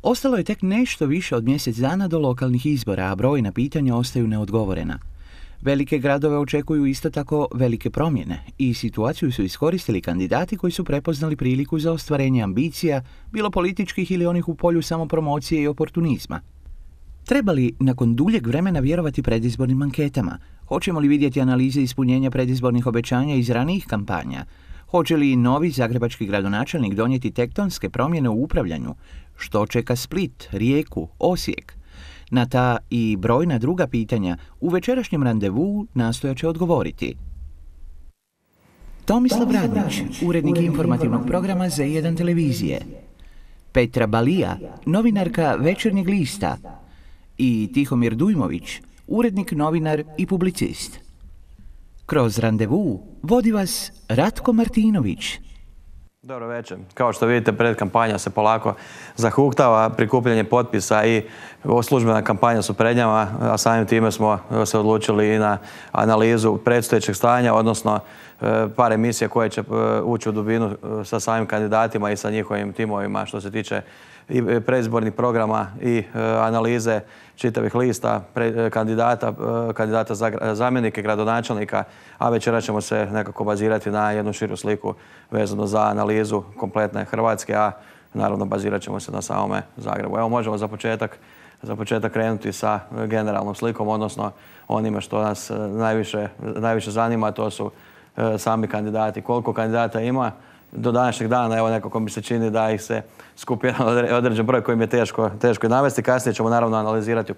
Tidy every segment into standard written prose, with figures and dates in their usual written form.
Ostalo je tek nešto više od mjesec dana do lokalnih izbora, a brojna pitanja ostaju neodgovorena. Velike gradove očekuju isto tako velike promjene i situaciju su iskoristili kandidati koji su prepoznali priliku za ostvarenje ambicija, bilo političkih ili onih u polju samopromocije i oportunizma. Treba li nakon duljeg vremena vjerovati predizbornim anketama? Hoćemo li vidjeti analize ispunjenja predizbornih obećanja iz ranijih kampanja? Hoće li novi zagrebački gradonačelnik donijeti tektonske promjene u upravljanju? Što čeka Split, Rijeku, Osijek? Na ta i brojna druga pitanja u večerašnjem randevu nastojat će odgovoriti Tomislav Radnić, urednik informativnog programa Z1 televizije, Petra Balija, novinarka Večernjeg lista i Tihomir Dujmović, urednik, novinar i publicist. Kroz randevu vodi vas Ratko Martinović. Dobro večer. Kao što vidite, predkampanja se polako zahuktava, prikupljanje potpisa i službena kampanja su pred njama, a samim time smo se odlučili i na analizu predstojećeg stanja, odnosno par emisija koje će ući u dubinu sa samim kandidatima i sa njihovim timovima što se tiče i predizbornih programa i analize čitavih lista kandidata za zamjenike gradonačelnika, a večera ćemo se nekako bazirati na jednu širu sliku vezano za analizu kompletne Hrvatske, a naravno bazirat ćemo se na samome Zagrebu. Evo možemo za početak krenuti sa generalnom slikom, odnosno onime što nas najviše zanima, to su sami kandidati. Koliko kandidata ima do današnjeg dana, evo nekako mi se čini da ih se skupi jedan određen broj kojim je teško i navesti. Kasnije ćemo naravno analizirati o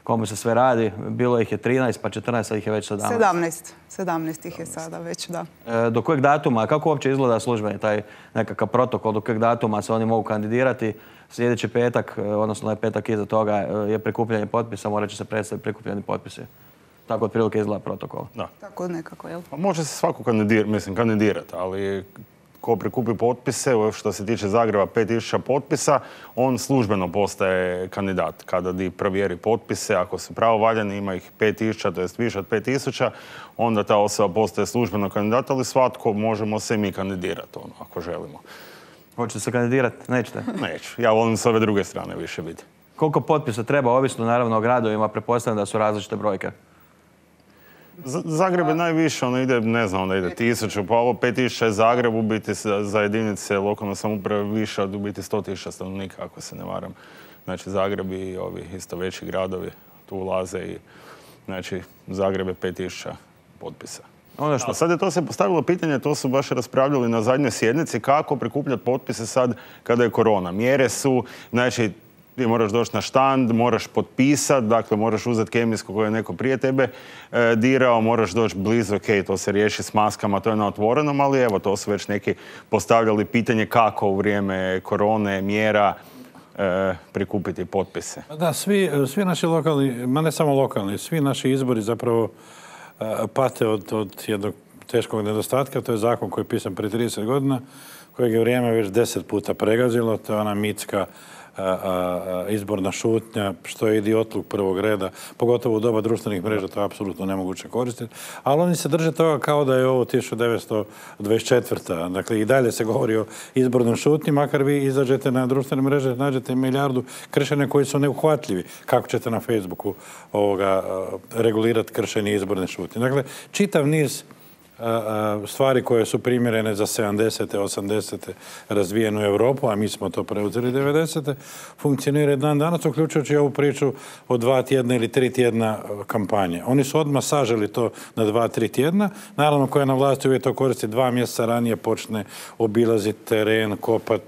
komu se sve radi. Bilo ih je 13, pa 14, a ih je već 17. 17 ih je sada već, da. Do kojeg datuma, kako uopće izgleda službeni taj nekakav protokol, do kojeg datuma se oni mogu kandidirati? Sljedeći petak, odnosno petak iza toga je prikupljanje potpisa, morat će se predstaviti prikupljeni potpisi. Tako otprilike izgleda protokol. Da. Tako nekako, jel? Može se svako kandidirati, ali ko prikupi potpise, što se tiče Zagreba 5000 potpisa, on službeno postaje kandidat. Kada provjeri potpise, ako su pravovaljani, ima ih 5000, to jest više od 5000, onda ta osoba postaje službeno kandidat, ali svatko možemo se i mi kandidirati, ako želimo. Hoćete se kandidirati? Nećete? Neću. Ja volim s ove druge strane više biti. Koliko potpisa treba, ovisno naravno o gradovima, pretpostavljam da su različite brojke? Zagreb je najviše, ide 1000, pa ovo 5000 je Zagreb, u biti za jedinice lokalne samouprave više od u biti 100.000 stanovnika, ako se ne varam. Znači Zagreb i ovi isto veći gradovi tu ulaze i znači Zagreb je 5000 potpisa. A sad je to se postavilo pitanje, to su baš raspravljali na zadnjoj sjednici, kako prikupljati potpise sad kada je korona. Mjere su, znači, ti moraš doći na štand, moraš potpisati, dakle moraš uzeti kemijsko koje je neko prije tebe dirao, moraš doći blizu, ok, to se riješi s maskama, to je na otvorenom, ali evo, to su već neki postavljali pitanje kako u vrijeme korone, mjera, prikupiti potpise. Da, svi naši lokalni, ma ne samo lokalni, svi naši izbori zapravo pate od jednog teškog nedostatka. To je zakon koji je pisan prije 30 godina, kojeg je vrijeme već 10 puta pregazilo. To je ona mitska izborna šutnja, što je idiotluk prvog reda, pogotovo u doba društvenih mreža, to je apsolutno nemoguće koristiti. Ali oni se drže toga kao da je ovo 1924. Dakle, i dalje se govori o izbornom šutnji, makar vi izađete na društvene mreže, nađete milijardu kršenja koji su neuhvatljivi. Kako ćete na Facebooku regulirati kršenje izborne šutnje? Dakle, čitav niz stvari koje su primjerene za 70. 80. razvijenu Europu, a mi smo to preuzeli 90. funkcionira dan danas, uključujući ovu priču o 2 tjedna ili 3 tjedna kampanje. Oni su odmah saželi to na 2-3 tjedna. Naravno, koja na vlasti uvijek to koristi 2 mjeseca ranije počne obilaziti teren, kopat,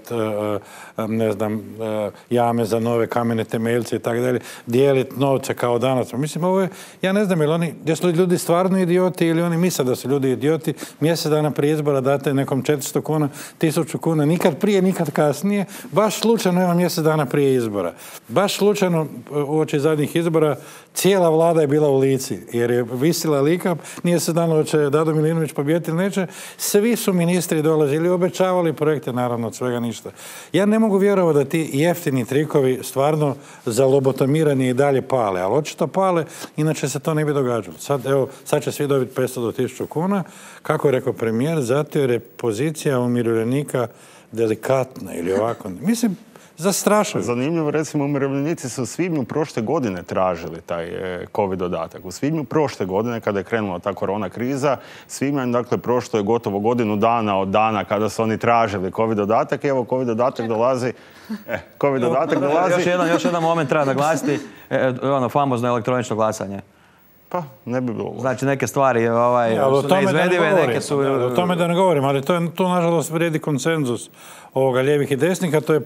jame za nove kamene temeljce i tako dalje, dijeliti novce kao danas. Mislim, ovo je, ja ne znam, jesu li ljudi stvarno idioti ili oni misle da su ljudi idioti. Mjesec dana prije izbora date nekom 400 kuna, 1000 kuna, nikad prije, nikad kasnije. Baš slučajno, evo, mjesec dana prije izbora. Baš slučajno, uoči zadnjih izbora, cijela vlada je bila u Lici, jer je visila lika, nije se znalo će Dado Milinović pobijediti ili neće. Svi su ministri dolazili, obećavali projekte, naravno, od svega ništa. Ja ne mogu vjerovati da ti jeftini trikovi stvarno za lobotomiranje i dalje pale, ali očito pale, inače se to ne bi događalo. Sad će svi dobiti 500 do 1000 kuna, kako je rekao premijer, zato jer je pozicija umirovljenika delikatna ili ovako. Mislim, zastrašuju. Zanimljivo, recimo, umirovljenici su u svibnju prošle godine tražili taj COVID dodatak. U svibnju prošle godine, kada je krenula ta korona kriza, svibanj, dakle, prošlo je gotovo godinu dana od dana kada su oni tražili COVID dodatak. Evo, COVID dodatak dolazi. COVID dodatak dolazi. Još jedan moment treba naglasiti, ono famozno elektronično glasanje. Pa, ne bi bilo loše. Znači, neke stvari su neizvedive, neke su... O tome da ne govorim, ali to nažalost vrijedi konsenzus ovoga lijevih i desnih, a to je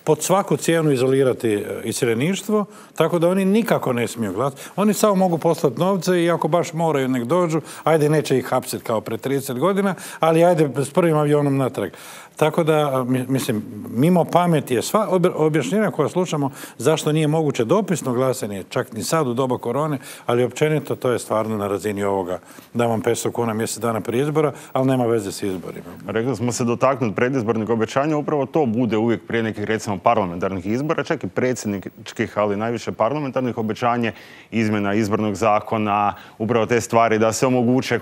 pod svaku cijenu izolirati iseljeništvo, tako da oni nikako ne smiju glasati. Oni samo mogu poslati novce i ako baš moraju nek dođu, ajde neće ih hapsiti kao pre 30 godina, ali ajde s prvim avionom natrag. Tako da, mislim, mimo pameti je sva objašnjenja koja slušamo zašto nije moguće dopisno glasanje, čak ni sad u doba korone, ali općenito to je stvarno na razini ovoga da vam 500 kuna mjesec dana prije izbora, ali nema veze s izborima. Rekli smo se dotaknuti predizbornih obećanja, upravo to bude uvijek prije nekih, recimo, parlamentarnih izbora, čak i predsjedničkih, ali najviše parlamentarnih obećanje, izmjena izbornog zakona, upravo te stvari da se omoguće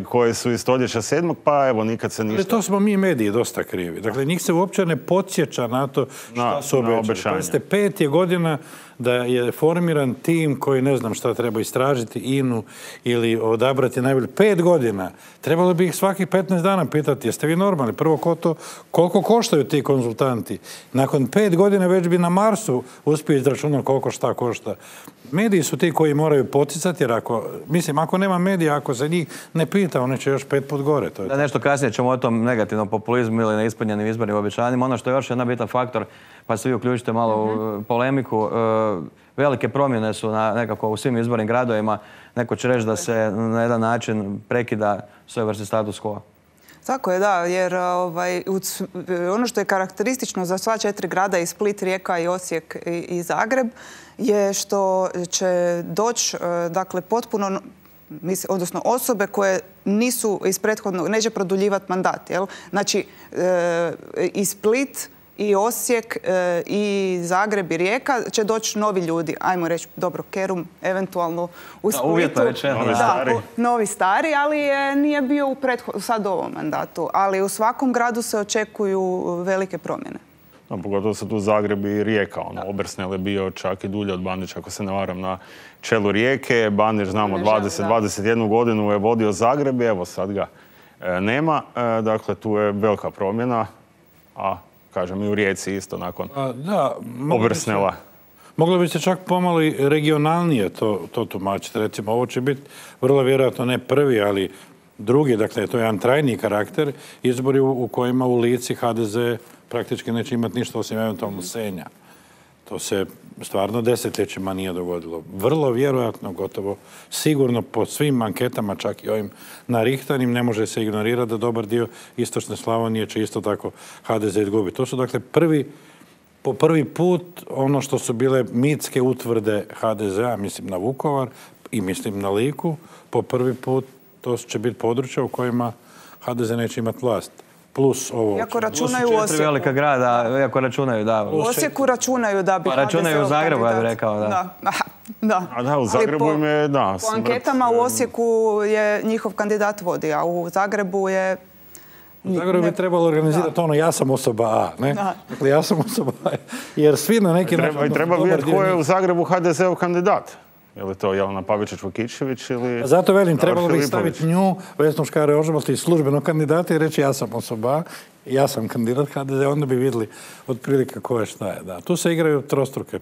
koje su iz stoljeća 7. pa evo nikad se ništa... To smo mi mediji dosta krivi. Dakle, njih se uopće ne podsjeća na to šta su obećali. Pazite, 5 je godina da je formiran tim koji ne znam šta treba istražiti INA-u ili odabrati najbolje. 5 godina. Trebalo bi ih svakih 15 dana pitati, jeste vi normalni? Prvo, koliko koštaju ti konzultanti? Nakon 5 godina već bi na Marsu uspio izračunati koliko šta košta. Mediji su ti koji moraju poticati, jer ako nema medija, ako se njih ne pita, oni će još 5 put gore. Da, nešto kasnije ćemo o tom negativnom populizmu ili neispunjenim izbornim obećanjima. Ono što je još jedan bitan faktor, pa se vi uključite malo u polemiku, velike promjene su nekako u svim izbornim gradovima. Neko će reći da se na jedan način prekida svojevrsni status quo. Tako je, da, jer ono što je karakteristično za sva 4 grada, i Split, Rijeka, i Osijek i Zagreb, je što će doći, dakle, potpuno, odnosno osobe koje nisu iz prethodnog, neće produljivati mandat. Jel? Znači, i Split, i Osijek, i Zagreb, i Rijeka će doći novi ljudi. Ajmo reći, dobro, Kerum, eventualno u Splitu. Uvjetno rečeno. Novi stari, ali nije bio sad u ovom mandatu. Ali u svakom gradu se očekuju velike promjene. Pogotovo se tu Zagreb i Rijeka. Obersnel je bio čak i dulje od Bandića, ako se ne varam, na čelu Rijeke. Bandić, znamo, 21 godinu je vodio Zagreb i evo sad ga nema. Dakle, tu je velika promjena, a kažem i u Rijeci isto nakon Obersnela. Moglo bi se čak pomalo i regionalnije to tumačiti. Recimo, ovo će biti vrlo vjerojatno ne prvi, ali drugi, dakle, to je jedan trajni karakter, izbori u kojima u Lici HDZ praktički neće imati ništa osim eventualno Senja. To se stvarno desetljećima nije dogodilo. Vrlo vjerojatno, gotovo sigurno po svim anketama, čak i ovim narihtanim, ne može se ignorirati da dobar dio istočne Slavonije će isto tako HDZ izgubiti. To su dakle po prvi put ono što su bile mitske utvrde HDZ-a, mislim na Vukovar i mislim na Liku, po prvi put to će biti područja u kojima HDZ neće imati vlast. Plus ovo... Iako računaju u Osijeku. Velika grada, iako računaju, da. U Osijeku računaju da bi HDZ-ov kandidat. Računaju u Zagrebu, ja bih rekao, da. Da. U Zagrebu im je, da. Po anketama u Osijeku je njihov kandidat vodi, a u Zagrebu je... U Zagrebu bi trebalo organizati ja sam osoba A, ne? Dakle, ja sam osoba A, jer svi na neki način... Treba vidjeti ko je u Zagrebu HDZ-ov kandidat. Je li to Jelena Pavičić-Vukičević ili... Zato velim, trebalo bi staviti nju, Vesnu Škare-Ožbolt i službenog kandidata i reći ja sam osoba, ja sam kandidat HDZ, onda bi vidjeli otprilike ko je šta je. Da. Tu se igraju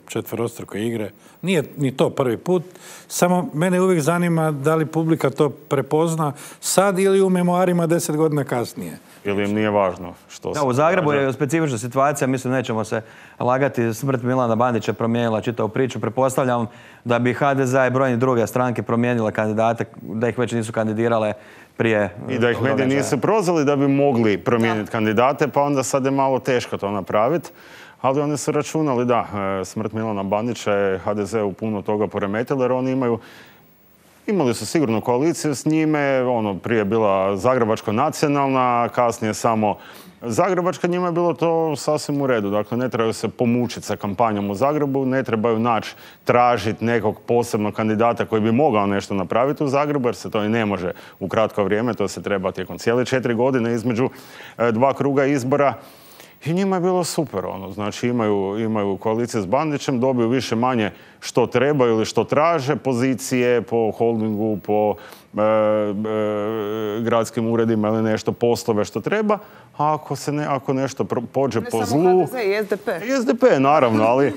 četverostruke igre. Nije ni to prvi put. Samo mene uvijek zanima da li publika to prepozna sad ili u memoarima 10 godina kasnije. Ili im nije važno što se... U Zagrebu je specifična situacija, mislim, nećemo se lagati, smrt Milana Bandića promijenila čitavu priču. Pretpostavljam da bi HDZ i brojne druge stranke promijenile kandidate, da ih već nisu kandidirale prije... I da ih mediji nisu prozvali da bi mogli promijeniti kandidate, pa onda sad je malo teško to napraviti. Ali oni su računali, da, smrt Milana Bandića je HDZ-u puno toga poremetila, jer oni imali su sigurno koaliciju s njime, prije je bila Zagrebačka nacionalna, kasnije samo Zagrebačka, njima je bilo to sasvim u redu. Dakle, ne trebaju se pomučiti sa kampanjom u Zagrebu, ne trebaju tražiti nekog posebnog kandidata koji bi mogao nešto napraviti u Zagrebu, jer se to i ne može u kratko vrijeme, to se treba tijekom cijele 4 godine između 2 kruga izbora. I njima je bilo super, znači imaju koalicije s Bandićem, dobiju više manje što trebaju ili što traže, pozicije po holdingu, po gradskim uredima ili nešto, poslove što treba, a ako nešto pođe po zlu... Ne samo HDZ i SDP. I SDP, naravno, ali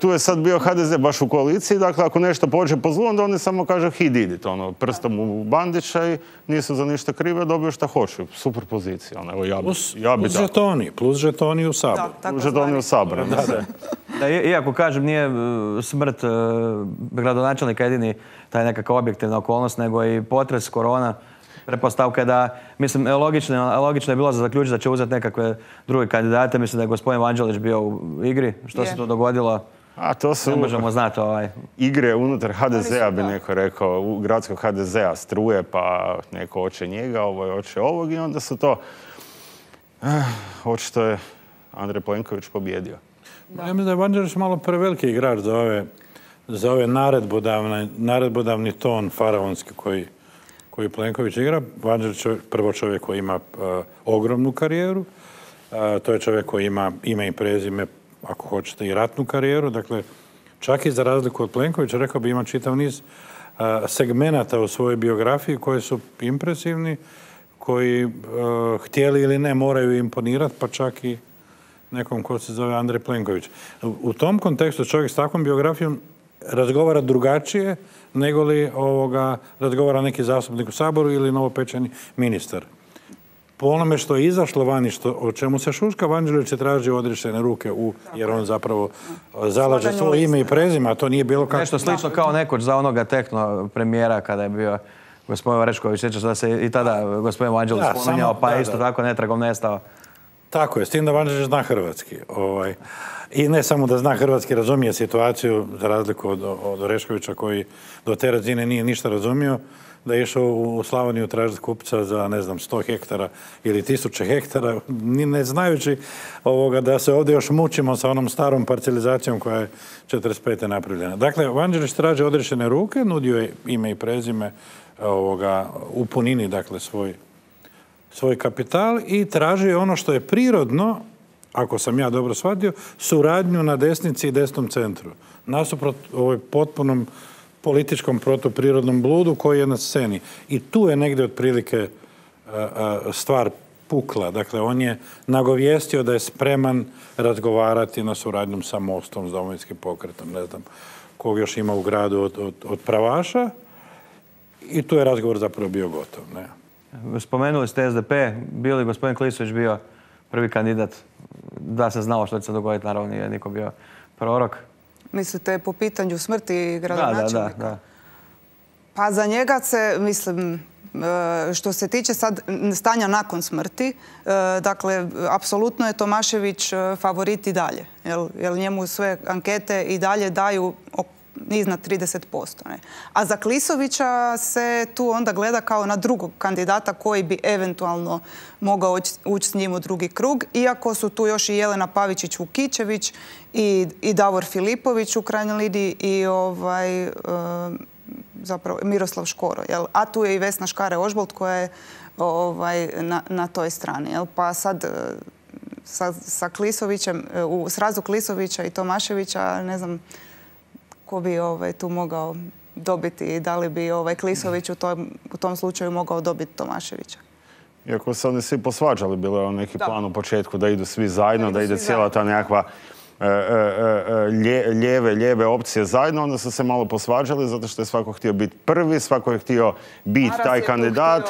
tu je sad bio HDZ baš u koaliciji, dakle ako nešto pođe po zlu, onda oni samo kažu he did it, prstom u Bandića i nisu za ništa krive, dobiju šta hoću. Super pozicija. Plus žetoni u Saboru. Plus žetoni u Saboru. Iako kažem, nije smrt gradonačelnika jedini taj nekakva objektivna okolnost, nego i potres, korona. Pretpostavka je da, mislim, logično je bilo za zaključiti da će uzeti nekakve druge kandidate. Mislim da je gospodin Vanđelić bio u igri. Što se tu dogodilo? A to su ne možemo znati. Igre unutar HDZ-a, bi neko rekao, u gradskog HDZ-a struje, pa neko hoće njega, hoće ovog i onda su to... Očito je Andrej Plenković pobjedio. Ja mislim da je Vanđelić malo preveliki igrač za ove naredbodavni ton faraonski koji Plenković igra. Vanđelić je prvo čovjek koji ima ogromnu karijeru. To je čovjek koji ima ime i prezime, ako hoćete, i ratnu karijeru. Dakle, čak i za razliku od Plenkovića, rekao bi, ima čitav niz segmenata u svojoj biografiji koji su impresivni, koji htjeli ili ne moraju imponirati, pa čak i nekom ko se zove Andrej Plenković. U tom kontekstu čovjek s takvom biografijom razgovara drugačije nego li razgovara neki zastupnik u Saboru ili novopečeni ministar. Po onome što je izašlo vani, o čemu se šuška, Vanđelić je tražio odriješene ruke jer on zapravo zalaže svoje ime i prezime, a to nije bilo kako... Nešto slično kao nekoć za onoga tehno premijera kada je bio gospodin Orešković, sjećaš da se i tada gospodin Vanđelić spominjao, pa isto tako netragom nestao. Tako je, s tim da Vanđelić zna hrvatski. I ne samo da zna hrvatski, razumije situaciju, za razliku od Oreškovića koji do te razine nije ništa razumio, da je išao u Slavoniju tražiti kupca za, 100 hektara ili 1000 hektara, ne znajući da se ovdje još mučimo sa onom starom parcelizacijom koja je 45. napravljena. Dakle, Vanđelić traži odriješene ruke, nudio je ime i prezime u punini, dakle, svoj kapital i traži ono što je prirodno, ako sam ja dobro shvatio, suradnju na desnici i desnom centru. Nasuprot ovoj potpunom političkom protuprirodnom bludu koji je na sceni. I tu je negdje otprilike stvar pukla. Dakle, on je nagovijestio da je spreman razgovarati na suradnjom sa Mostom, s Domovinskim pokretom, ne znam kog još ima u gradu od pravaša. I tu je razgovor zapravo bio gotov. Ne? Spomenuli ste SDP, bio li gospodin Klisović bio prvi kandidat? Da se znalo što će se dogoditi, naravno nije niko bio prorok. Mislite po pitanju smrti gradonačelnika? Da. Pa za njega se, mislim, što se tiče sad stanja nakon smrti, dakle, apsolutno je Tomašević favorit i dalje. Jer njemu sve ankete i dalje daju iznad 30%. Ne? A za Klisovića se tu onda gleda kao na drugog kandidata koji bi eventualno mogao ući s njim u drugi krug, iako su tu još i Jelena Pavičić-Vukičević i Davor Filipović u krajnjoj liniji i zapravo Miroslav Škoro. Jel? A tu je i Vesna Škare-Ožbolt koja je na toj strani. Jel? Pa sad sa Klisovićem, u srazu Klisovića i Tomaševića, ne znam ko bi tu mogao dobiti i da li bi Klisović u tom slučaju mogao dobiti Tomaševića. Iako se oni svi posvađali, bilo je neki plan u početku da idu svi zajedno, da ide cijela ta nekakva lijeve opcije zajedno, onda su se malo posvađali zato što je svako htio biti prvi, svako je htio biti taj kandidat.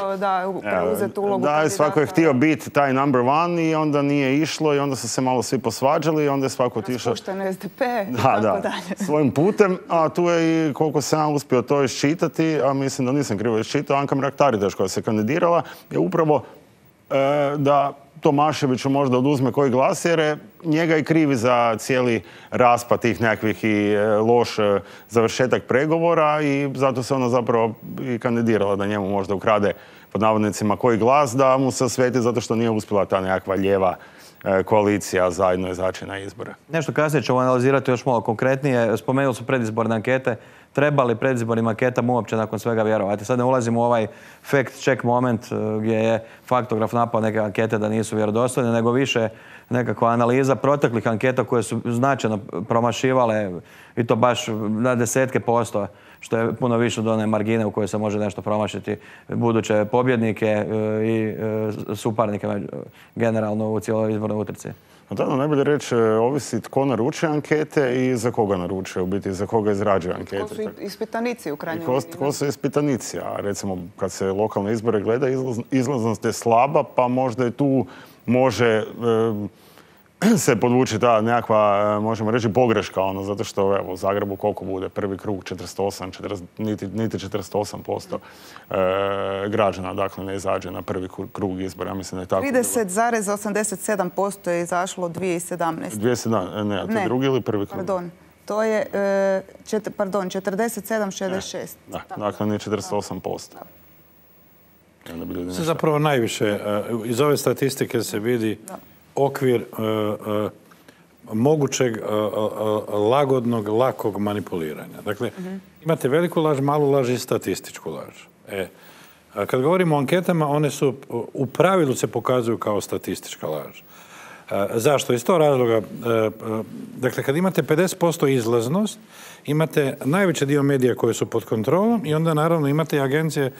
Da, svako je htio biti taj number one i onda nije išlo i onda su se malo svi posvađali i onda je svako otišao... Raspušten SDP i tako dalje. Svojim putem, a tu je i koliko sam ja uspio to iščitati, a mislim da nisam krivo iščitao, Anka Mrak-Taritaš koja se kandidirala je upravo da Tomaševiću možda oduzme koji glas jer je njega i krivi za cijeli raspad tih nekakvih i loš završetak pregovora i zato se ona zapravo i kandidirala da njemu možda ukrade pod navodnicima koji glas da mu se osveti zato što nije uspjela ta nekakva lijeva koalicija zajedno izaći na izbore. Nešto kasnije ćemo analizirati još malo konkretnije. Spomenuli su predizborne ankete. treba li predizbornim anketama uopće nakon svega vjerovati. Sad ne ulazimo u ovaj fact check moment gdje je faktograf napao neke ankete da nisu vjerodostojne, nego više nekakva analiza proteklih anketa koje su značajno promašivale i to baš na desetke posto, što je puno više od one margine u kojoj se može nešto promašiti buduće pobjednike i suparnike generalno u cijeloj izbornoj utrci. Da, najbolje reći, ovisi tko naručuje ankete i za koga naručuje, u biti za koga izrađuje ankete. Ko su ispitanici u krajnjoj liniji. Ko su ispitanici, a recimo kad se lokalne izbore gleda, izlaznost je slaba, pa možda i tu može se podvući ta nekakva, možemo reći, pogreška, zato što evo, u Zagrebu koliko bude prvi krug, niti 48% građana, dakle, ne izađe na prvi krug izbora. Ja mislim da je tako. 30,87% je izašlo 2017. 2017, ne, a to je drugi ili prvi krug? Pardon, to je, 47,66. Da, dakle, nije 48%. Se zapravo najviše, iz ove statistike se vidi okvir mogućeg lagodnog, lakog manipuliranja. Dakle, imate veliku laž, malu laž i statističku laž. Kad govorimo o anketama, one su u pravilu se pokazuju kao statistička laž. Zašto? Iz tog razloga, dakle, kad imate 50% izlaznost, imate najveći dio medija koje su pod kontrolom i onda naravno imate i agencije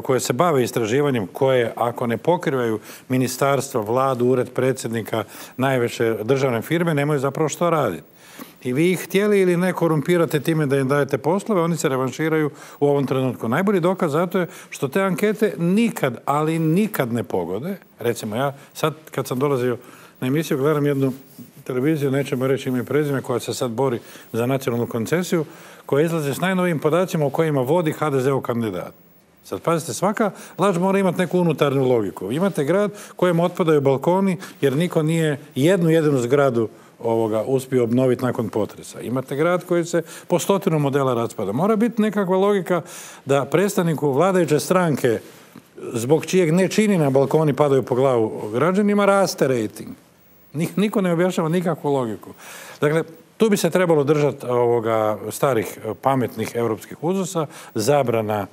koje se bave istraživanjem, koje ako ne pokrivaju ministarstva, vladu, ured predsjednika, najveće državne firme, nemaju zapravo što raditi. I vi ih htjeli ili ne korumpirate time da im dajete poslove, oni se revanširaju u ovom trenutku. Najbolji dokaz zato je što te ankete nikad, ali nikad ne pogode. Recimo, ja sad kad sam dolazio na emisiju, gledam jednu televiziju, nećemo reći ime i prezime, koja se sad bori za nacionalnu koncesiju, koja izlazi s najnovijim podacima o kojima vodi HDZ-ov kandidat. Sad, pazite, svaka laž mora imati neku unutarnju logiku. Imate grad kojem otpadaju balkoni jer niko nije jednu zgradu uspio obnoviti nakon potresa. Imate grad koji se po 100 modela raspada. Mora biti nekakva logika da predstavniku vladajuće stranke, zbog čijeg nečini na balkoni padaju po glavu građanima, raste rejting. Niko ne objašnjava nikakvu logiku. Dakle, tu bi se trebalo držati starih pametnih europskih uzusa, zabrana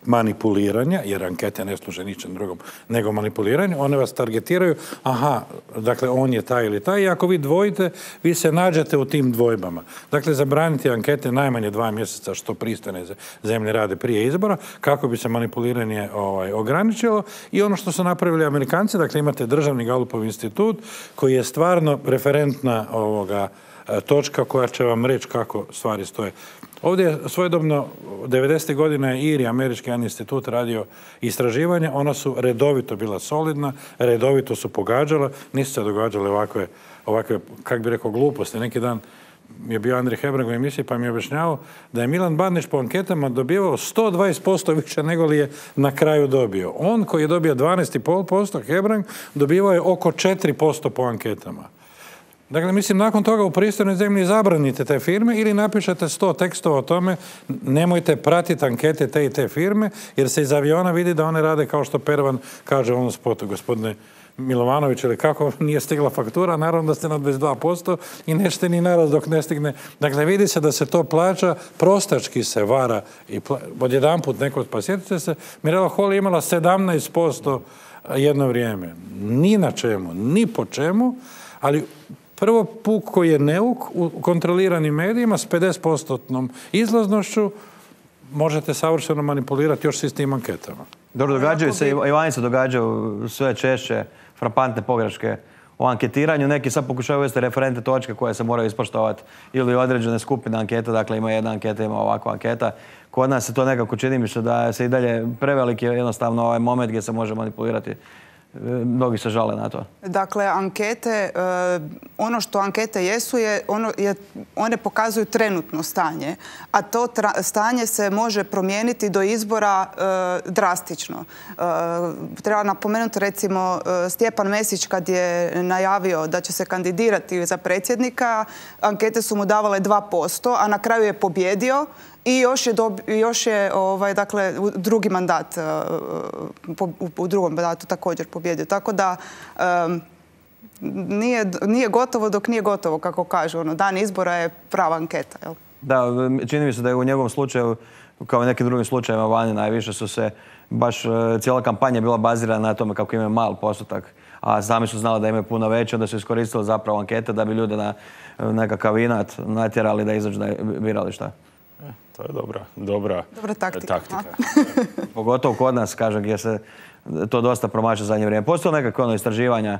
manipuliranja, jer ankete ne služe ničem drugom nego manipuliranju. One vas targetiraju, dakle, on je taj ili taj, i ako vi dvojite, vi se nađete u tim dvojbama. Dakle, zabraniti ankete najmanje 2 mjeseca, što pristojne zemlje rade prije izbora, kako bi se manipuliranje ograničilo. I ono što su napravili Amerikanci, dakle, imate Državni Galupov institut, koji je stvarno referentna točka koja će vam reći kako stvari stoje. Ovdje je svojedobno 90. godina IRI, američki institut, radio istraživanja. Ona su redovito bila solidna, redovito su pogađala, nisu se događale ovakve, kak bi rekao, gluposti. Neki dan je bio Andrij Hebrang u emisiji pa mi je objašnjavao da je Milan Bandić po anketama dobivao 120% više nego li je na kraju dobio. On koji je dobio 12,5%, Hebrang, dobivao je oko 4% po anketama. Dakle, mislim, nakon toga u pristojnoj zemlji zabranite te firme ili napišete 100 tekstova o tome, nemojte pratiti ankete te i te firme, jer se iz aviona vidi da one rade kao što Pervan kaže u onom spotu, gospodine Milovanović, ili kako nije stigla faktura, naravno da ste na 22% i nećete ni naraz dok ne stigne. Dakle, vidi se da se to plaća, prostački se vara i odjedanput neko, pa sjetite se, Mirela Holy je imala 17% jedno vrijeme. Ni na čemu, ni po čemu, ali prvo puk koji je neuk u kontroliranim medijima s 50% izlaznošću možete savršeno manipulirati još s tim anketama. Dobro, događaju se, i vani se događaju sve češće frapantne pogreške u anketiranju. Neki sad pokušaju uvesti referente točke koje se moraju ispoštovati ili određene skupine anketa, dakle ima jedna anketa, ima ovakva anketa. Kod nas se to nekako čini mi se da se i dalje preveliki jednostavno ovaj moment gdje se može manipulirati. Mnogi se žale na to. Dakle, ankete, ono što ankete jesu, one pokazuju trenutno stanje, a to stanje se može promijeniti do izbora drastično. Treba napomenuti, recimo, Stjepan Mesić kad je najavio da će se kandidirati za predsjednika, ankete su mu davale 2%, a na kraju je pobjedio. I još je dakle, drugi mandat, u drugom mandatu također pobjedio. Tako da nije gotovo dok nije gotovo, kako kažu. Dan izbora je prava anketa. Jel? Da, čini mi se da je u njegovom slučaju, kao i nekim drugim slučajevima vani, najviše su se baš cijela kampanja bila bazirana na tome kako imaju mal postotak, a sami su znali da imaju puno veće, onda su iskoristili zapravo ankete da bi ljude na nekakav inat natjerali da izađu na birališta. To je dobra taktika. Pogotovo kod nas, kažem, gdje se to dosta promaša zadnje vrijeme. Postoje nekakve istraživanja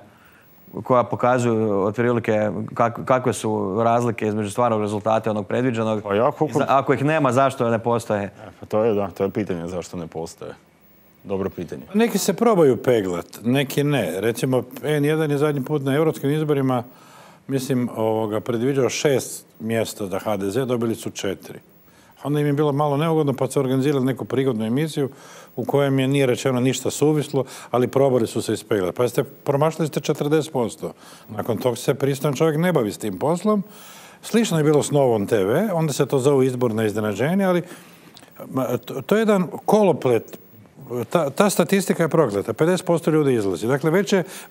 koja pokazuju otprilike kakve su razlike između stvarnog rezultata i onog predviđenog. Ako ih nema, zašto ne postoje? To je pitanje zašto ne postoje. Dobro pitanje. Neki se probaju peglat, neki ne. Recimo, N1 je zadnji put na europskim izborima, mislim, predviđao 6 mjesta za HDZ, dobili su 4. Onda im je bilo malo neugodno, pa su organizirali neku prigodnu emisiju u kojem je nije rečeno ništa suvislo, ali probali su se ispeglati. Pa promašili ste 40%. Nakon toga se pristojan čovjek ne bavi s tim poslom. Slično je bilo s Novom TV, onda se to zove izborno iznenađenje, ali to je jedan koloplet. Ta statistika je prokleta. 50% ljudi izlazi. Dakle,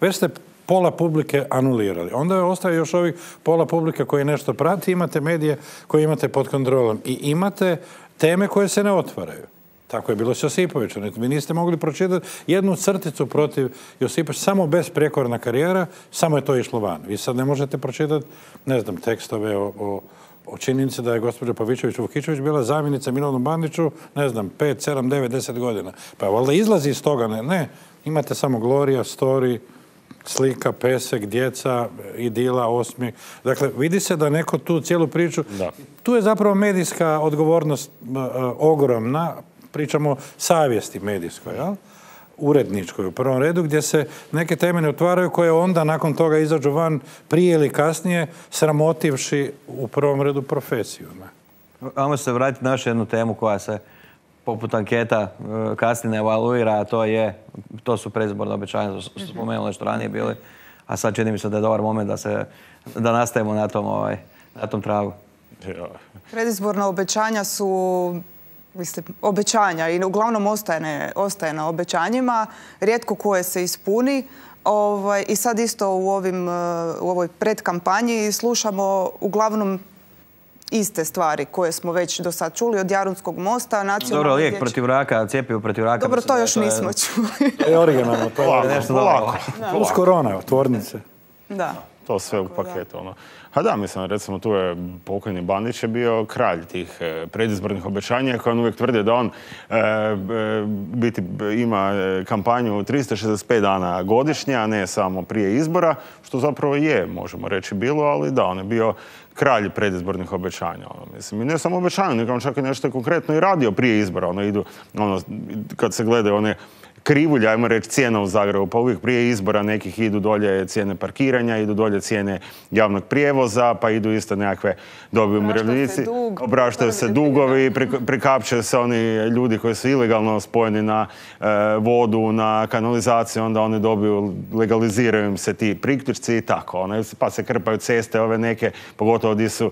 već ste pola publike anulirali. Onda ostaje još ovih pola publike koji nešto prati, imate medije koje imate pod kontrolom i imate teme koje se ne otvaraju. Tako je bilo s Josipovićem. Vi niste mogli pročitati jednu crticu protiv Josipovića, samo besprijekorna karijera, samo je to išlo van. Vi sad ne možete pročitati, ne znam, tekstove o činjenici da je gospođa Pavićević-Vukičević bila zamjenica Milanu Bandiću, ne znam, 5, 7, 9, 10 godina. Pa valjda izlazi iz toga, ne. Imate samo Gloria, story, slika, pesek, djeca, idila, osmijeh. Dakle, vidi se da neko tu cijelu priču... Da. Tu je zapravo medijska odgovornost ogromna, pričamo savjesti medijskoj, jel? Uredničkoj u prvom redu, gdje se neke teme ne otvaraju koje onda nakon toga izađu van prije ili kasnije, sramotivši u prvom redu profesiju. Ajmo se vratiti na još jednu temu koja se poput anketa kasnije ne evaluira, a to su predizborne obećanja, što su spomenuli nešto ranije bili, a sad čini mi se da je dobar moment da nastavimo na tom tragu. Predizborna obećanja su obećanja i uglavnom ostaje na obećanjima, rijetko koje se ispuni. I sad isto u ovoj predkampanji slušamo uglavnom iste stvari koje smo već do sad čuli od Jarunskog mosta. Dobro, lijek protiv raka, cjepivo protiv raka. Dobro, to još nismo čuli. To je originalno, to je nešto lako. Plus korona, tvornice. Da. To sve u paketu. A da, mislim, recimo tu je pokojni Bandić je bio kralj tih predizbornih obećanja koji on uvijek tvrdi da on ima kampanju 365 dana godišnje, a ne samo prije izbora, što zapravo je, možemo reći, bilo, ali da, on je bio kralj predizbornih obećanja. Mislim, i ne samo obećanja, nego on čak i nešto konkretno i radio prije izbora. Kad se gledaju one krivulja, ajmo reći, cijena u Zagrebu, pa uvijek prije izbora nekih idu dolje cijene parkiranja, idu dolje cijene javnog prijevoza, pa idu isto nekakve dobi umirovljenici. Opraštaju se dugovi, prikapčaju se oni ljudi koji su ilegalno spojeni na vodu, na kanalizaciju, onda oni dobiju, legaliziraju im se ti priključci i tako. Pa se krpaju ceste ove neke, pogotovo gdje su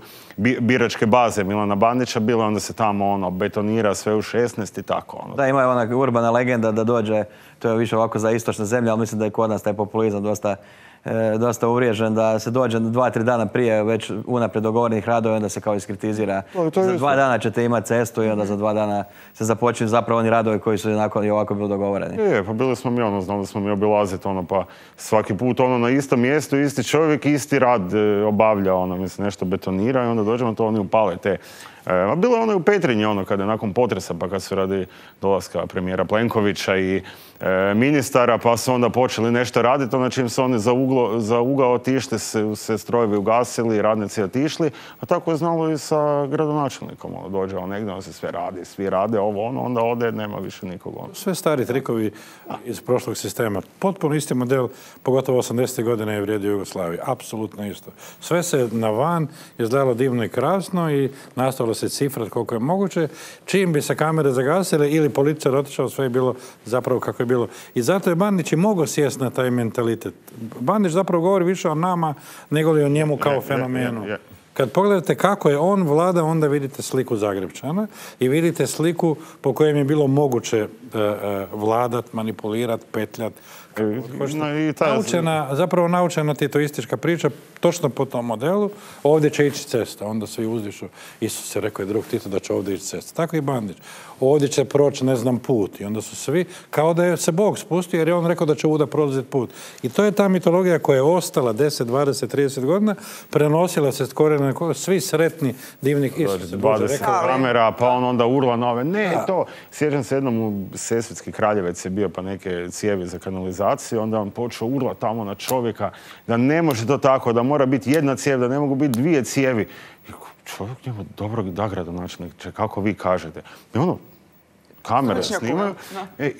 biračke baze Milana Bandića bile, onda se tamo betonira sve u 16 i tako. Da, ima ona urbana legenda da dođe, to je više ovako za istočne zemlje, ali mislim da je kod nas taj populizam dosta uvriježen, da se dođe 2-3 dana prije već unaprijed dogovorenih radova i onda se kao iskritizira. Za 2 dana ćete imati cestu i onda za 2 dana se započinju zapravo oni radovi koji su i ovako bili dogovoreni. Pa bili smo mi znali smo mi obilaziti pa svaki put na istom mjestu, isti čovjek, isti rad obavlja, mislim nešto betonira i onda dođemo to oni upale te. Bilo je u Petrinji kada je nakon potresa, pa kad su radi dolaska premijera Plenkovića i ministara, pa su onda počeli nešto raditi, čim su oni za ugao otišli, se strojevi ugasili, radnici otišli, a tako je znalo i sa gradonačelnikom. Dođe negdje, on se sve radi, svi rade onda ode, nema više nikog. Sve stari trikovi iz prošlog sistema. Potpuno isti model, pogotovo 80. godine je vrijedio Jugoslaviji. Apsolutno isto. Sve se na van izgledalo divno i krasno i nastavilo se cifrat koliko je moguće. Čim bi se kamere zagasile ili policija otišao, sve je bilo zapravo kako je bilo. I zato je Bandić i mogao sjesti na taj mentalitet. Bandić zapravo govori više o nama nego li o njemu kao fenomenu. Kad pogledate kako je on vlada, onda vidite sliku Zagrepčana i vidite sliku po kojem je bilo moguće vladat, manipulirat, petljat. No, zapravo naučena titoistička priča, točno po tom modelu, ovdje će ići cesta, onda svi uzdišu. Isus je rekao i drug Tito da će ovdje ići cesta. Tako i Bandić. Ovdje će proći, ne znam, put. I onda su svi, kao da je se Bog spustio, jer je on rekao da će ovuda prolaziti put. I to je ta mitologija koja je ostala 10, 20, 30 godina, prenosila se skoro svi sretni, divni Isus. 20 kamera, pa on onda urla na ove. Ne, to. Sjećam se jednom u Sesvetski Kraljevec je bio pa neke cijevi za kanalizaciju, onda on počeo urla tamo na čovjeka da ne može to tako, da mora biti jedna cijev, da ne mogu biti dvije cijevi. I čovjek njemu dobro da gradonačelnik, kako vi kažete. I ono, kamere snimaju.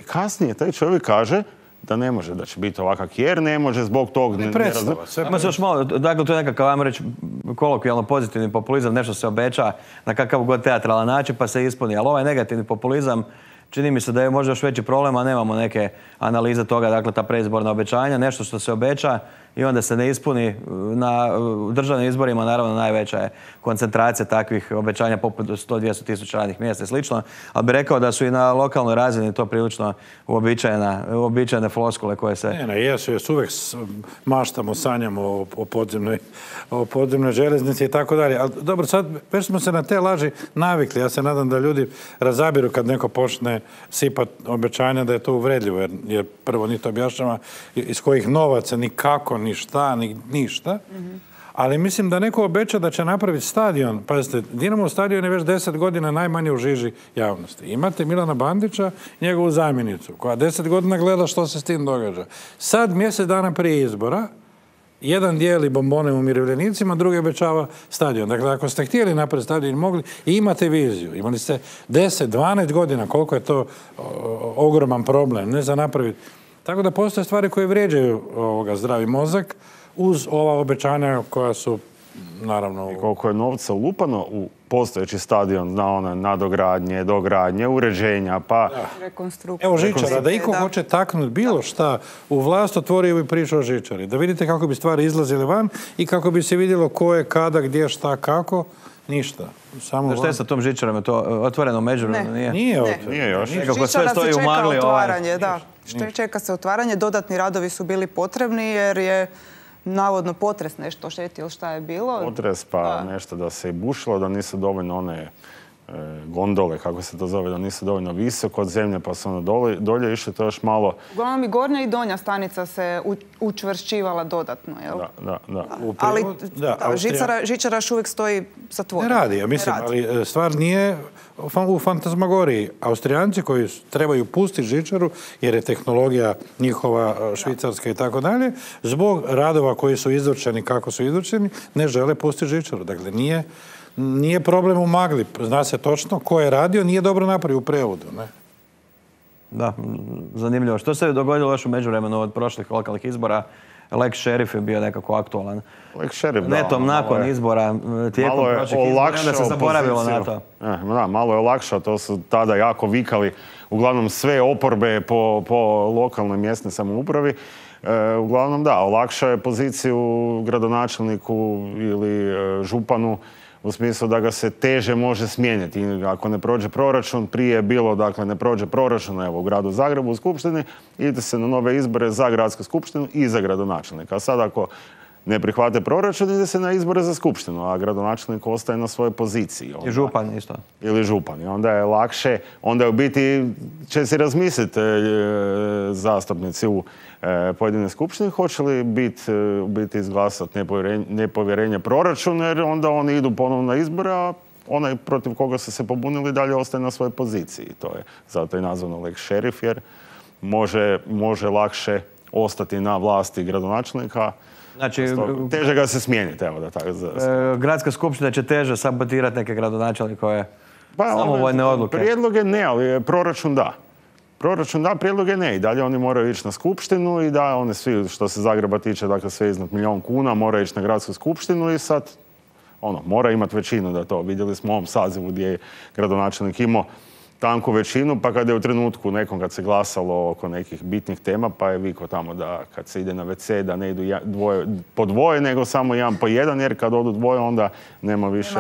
Kasnije taj čovjek kaže da ne može, da će biti ovakav jer ne može zbog tog ne predstava. Ima se još malo, dakle to je nekakav, ajmo reći, kolokvijalno pozitivni populizam, nešto se obeća na kakav god teatralan način pa se ispuni. Ali ovaj negativni populizam čini mi se da je možda još veći problem, a nemamo neke analize toga, dakle ta predizborna obećanja, nešto što se obeća i onda se ne ispuni. Na državnim izborima naravno najveća je koncentracija takvih obećanja poput 100-200 tisuća radnih mjesta i slično, ali bih rekao da su i na lokalnoj razini to prilično uobičajene floskule koje se... Jesu, uvijek maštamo, sanjamo o podzemnoj željeznici i tako dalje. Ali dobro, sad već smo se na te laži navikli. Ja se nadam da ljudi razabiru kad neko počne sipati obećanja da je to uvredljivo, jer prvo ni to objašnjava iz kojih novaca, ni kako, ni šta, ni ništa. Ali mislim da neko obeća da će napraviti stadion. Pazite, Dinamo stadion je već 10 godina najmanje u žiži javnosti. Imate Milana Bandića i njegovu zamjenicu, koja 10 godina gleda što se s tim događa. Sad, mjesec dana prije izbora, jedan dijeli bombone umirovljenicima, drugi obećava stadion. Dakle, ako ste htjeli napraviti stadion, mogli i imate viziju. Imali ste 10, 12 godina, koliko je to ogroman problem, ne za napraviti. Tako da postoje stvari koje vrijeđaju zdravi mozak uz ova obećanja koja su, naravno... I koliko je novca ulupano u postojeći stadion na one nadogradnje, dogradnje, uređenja, pa... Rekonstrukcija. Evo žičara, da iko hoće taknuti bilo šta u vlast, otvorio bi priču o žičari. Da vidite kako bi stvari izlazile van i kako bi se vidjelo ko je, kada, gdje, šta, kako. Ništa. Što je sa tom žičarom? Je to otvoreno međuvremeno? Nije otvoreno. Nije još. Nekako sve stoji u magli. Čeka se otvaranje. Dodatni radovi su bili potrebni jer je navodno potres nešto štetio ili šta je bilo. Potres pa nešto da se i bušilo, da nisu dovoljno one gondole, kako se to zove, da nisu dovoljno visoko od zemlje, pa su ono dolje išli, to još malo... Uglavnom i gornja i donja stanica se učvršćivala dodatno, jel? Da. Ali žičara još uvijek stoji zatvorena. Ne radi, ja mislim, ali stvar nije u fantazmagoriji. Austrijanci koji trebaju pustiti žičaru, jer je tehnologija njihova, švicarska i tako dalje, zbog radova koji su izvršeni kako su izvršeni, ne žele pustiti žičaru. Dakle, nije problem u magli. Zna se točno ko je radio, nije dobro napravio u prevodu. Ne? Da, zanimljivo. Što se je dogodilo još u međuvremenu od prošlih lokalnih izbora? Lex Šerif je bio nekako aktualan. Lex Šerif, netom nakon izbora, tijekom prošlih izbora, onda se zaboravilo na to. Malo je olakšao, to su tada jako vikali, uglavnom sve oporbe po lokalnoj mjesnoj samoupravi. Uglavnom da, olakšao je poziciju gradonačelniku ili županu u smislu da ga se teže može smijeniti. Ako ne prođe proračun, prije je bilo, dakle, ne prođe proračun, evo, u gradu Zagrebu, u skupštini, ide se na nove izbore za gradsku skupštinu i za gradonačelnika. A sad ako ne prihvate proračun, ide se na izbore za skupštinu, a gradonačelnik ostaje na svojoj poziciji. I župan isto. Ili župan. I onda je lakše, onda u biti će se razmisliti zastupnici u pojedine skupštine, hoće li biti izglasati nepovjerenje proračunu, jer onda oni idu ponovno na izbore, a onaj protiv koga su se pobunili dalje ostaje na svojoj poziciji. To je zato i nazvano Lex Šerif, jer može lakše ostati na vlasti gradonačelnika. Znači, teže ga se smijeniti, evo da tako. Gradska skupština će teže sabotirati neke gradonačelnikove samovoljne odluke. Prijedloge ne, ali proračun da. Proračun da, prijedloge ne. I dalje oni moraju ići na skupštinu i da, oni svi, što se Zagreba tiče, dakle sve iznad 1 000 000 kuna, moraju ići na gradsku skupštinu i sad, mora imati većinu da to. Vidjeli smo u ovom sazivu gdje je gradonačelnik imao tanku većinu, pa kada je u trenutku nekom kad se glasalo oko nekih bitnih tema, pa je vikao tamo da kad se ide na WC da ne idu po dvoje, nego samo jedan po jedan, jer kad odu dvoje onda nema više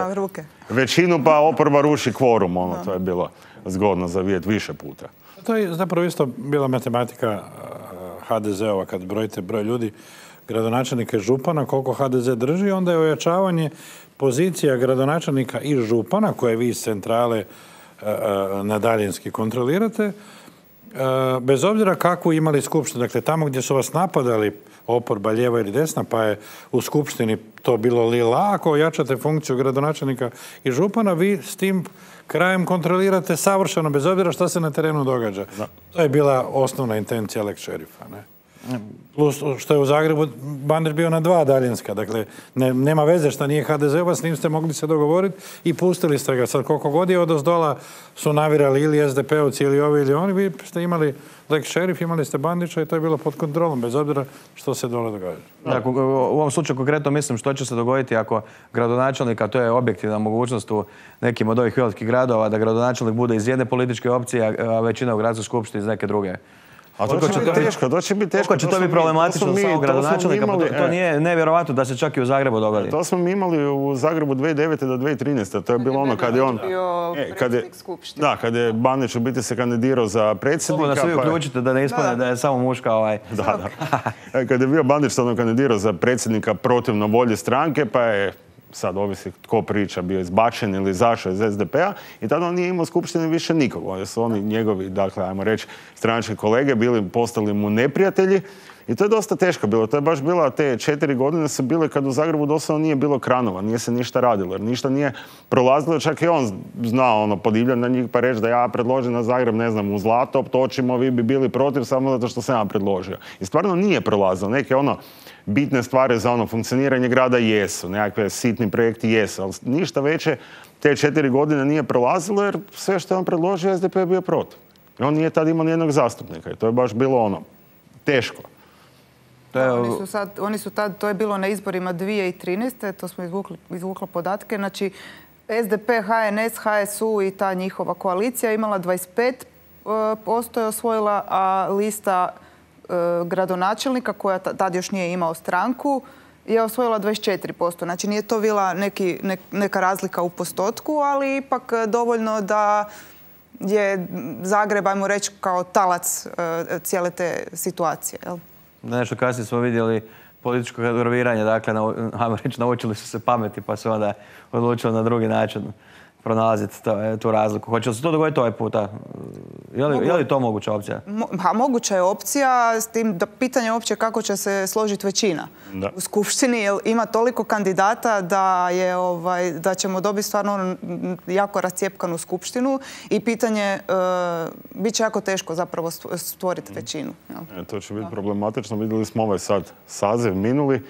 većinu, pa oporba ruši kvorum. To je bilo zgodno za vidjeti više puta. To je zapravo isto bila matematika HDZ-ova, kad brojite broj ljudi, gradonačelnika i župana, koliko HDZ drži, onda je ojačavanje pozicija gradonačelnika i župana, koje vi iz centrale na daljinski kontrolirate, bez obzira kakvu imali skupštinu. Dakle, tamo gdje su vas napadali oporba lijeva ili desna, pa je u skupštini to bilo lila, ako ojačate funkciju gradonačelnika i župana, vi s tim krajem kontrolirate savršeno, bez obzira što se na terenu događa. Da. To je bila osnovna intencija lex šerifa, ne? Plus što je u Zagrebu Bandić bio na 2 daljinska, dakle nema veze što nije HDZ-ova, s njim ste mogli se dogovoriti i pustili ste ga. Sad koliko god je odozdola su navirali ili SDP-ovci ili ovi ili oni, vi ste imali lex šerif, imali ste Bandića i to je bilo pod kontrolom, bez obzira što se dole događa. Dakle, u ovom slučaju konkretno mislim što će se dogoditi ako gradonačelnik, a to je objektivna mogućnost u nekim od ovih velikih gradova, da gradonačelnik bude iz jedne političke opcije, a većina u gradskoj skupštini iz neke druge. A to će biti teško, Koliko će to biti problematično za samog gradonačelnika? To nije nevjerovatno da se čak i u Zagrebu dogodi. To smo mi imali u Zagrebu 2009. do 2013. To je bilo ono kad je on... kad je Bandić u biti se kandidirao za predsjednika. Da svi uključite da ne ispane da je samo muška Da. Kad je bio Bandić kandidirao za predsjednika protivno volji stranke, pa je sad ovisi tko priča, bio izbačen ili izašao iz SDP-a i tada on nije imao skupštine više nikog. Oni su oni njegovi, dakle, ajmo reći, stranački kolege postali mu neprijatelji i to je dosta teško bilo. To je baš bila, te 4 godine su bile kad u Zagrebu doslovno nije bilo kranova, nije se ništa radilo, jer ništa nije prolazilo, čak i on znao podivljan na njih pa reći da ja predložim na Zagreb, ne znam, u Zlato, točimo, vi bi bili protiv samo zato što sam ja predložio. I stvarno nije prolazilo. Neke bitne stvari za funkcioniranje grada jesu, nekakve sitni projekti jesu, ali ništa veće te 4 godine nije prolazilo jer sve što je on predložio, SDP je bio protiv. I on nije tad imao nijednog zastupnika i to je baš bilo teško. Oni su tad, to je bilo na izborima 2013. To smo izvukli podatke. Znači, SDP, HNS, HSU i ta njihova koalicija imala 25% je osvojila, a lista gradonačelnika, koja tad još nije imao stranku, je osvojila 24%. Znači, nije to bila neka razlika u postotku, ali ipak dovoljno da je Zagreb, ajmo reći, kao talac cijele te situacije. Nešto kasnije smo vidjeli političko kadroviranje, dakle, ajmo reći, naučili su se pameti pa su onda odlučili na drugi način pronalaziti tu razliku. Hoće li se to dogoditi ovaj puta? Je li to moguća opcija? Moguća je opcija, s tim da pitanje uopće kako će se složiti većina u skupštini, jer ima toliko kandidata da ćemo dobiti stvarno jako rascijepkanu skupštinu i pitanje, bit će jako teško zapravo stvoriti većinu. To će biti problematično. Vidjeli smo ovaj sad saziv minuli,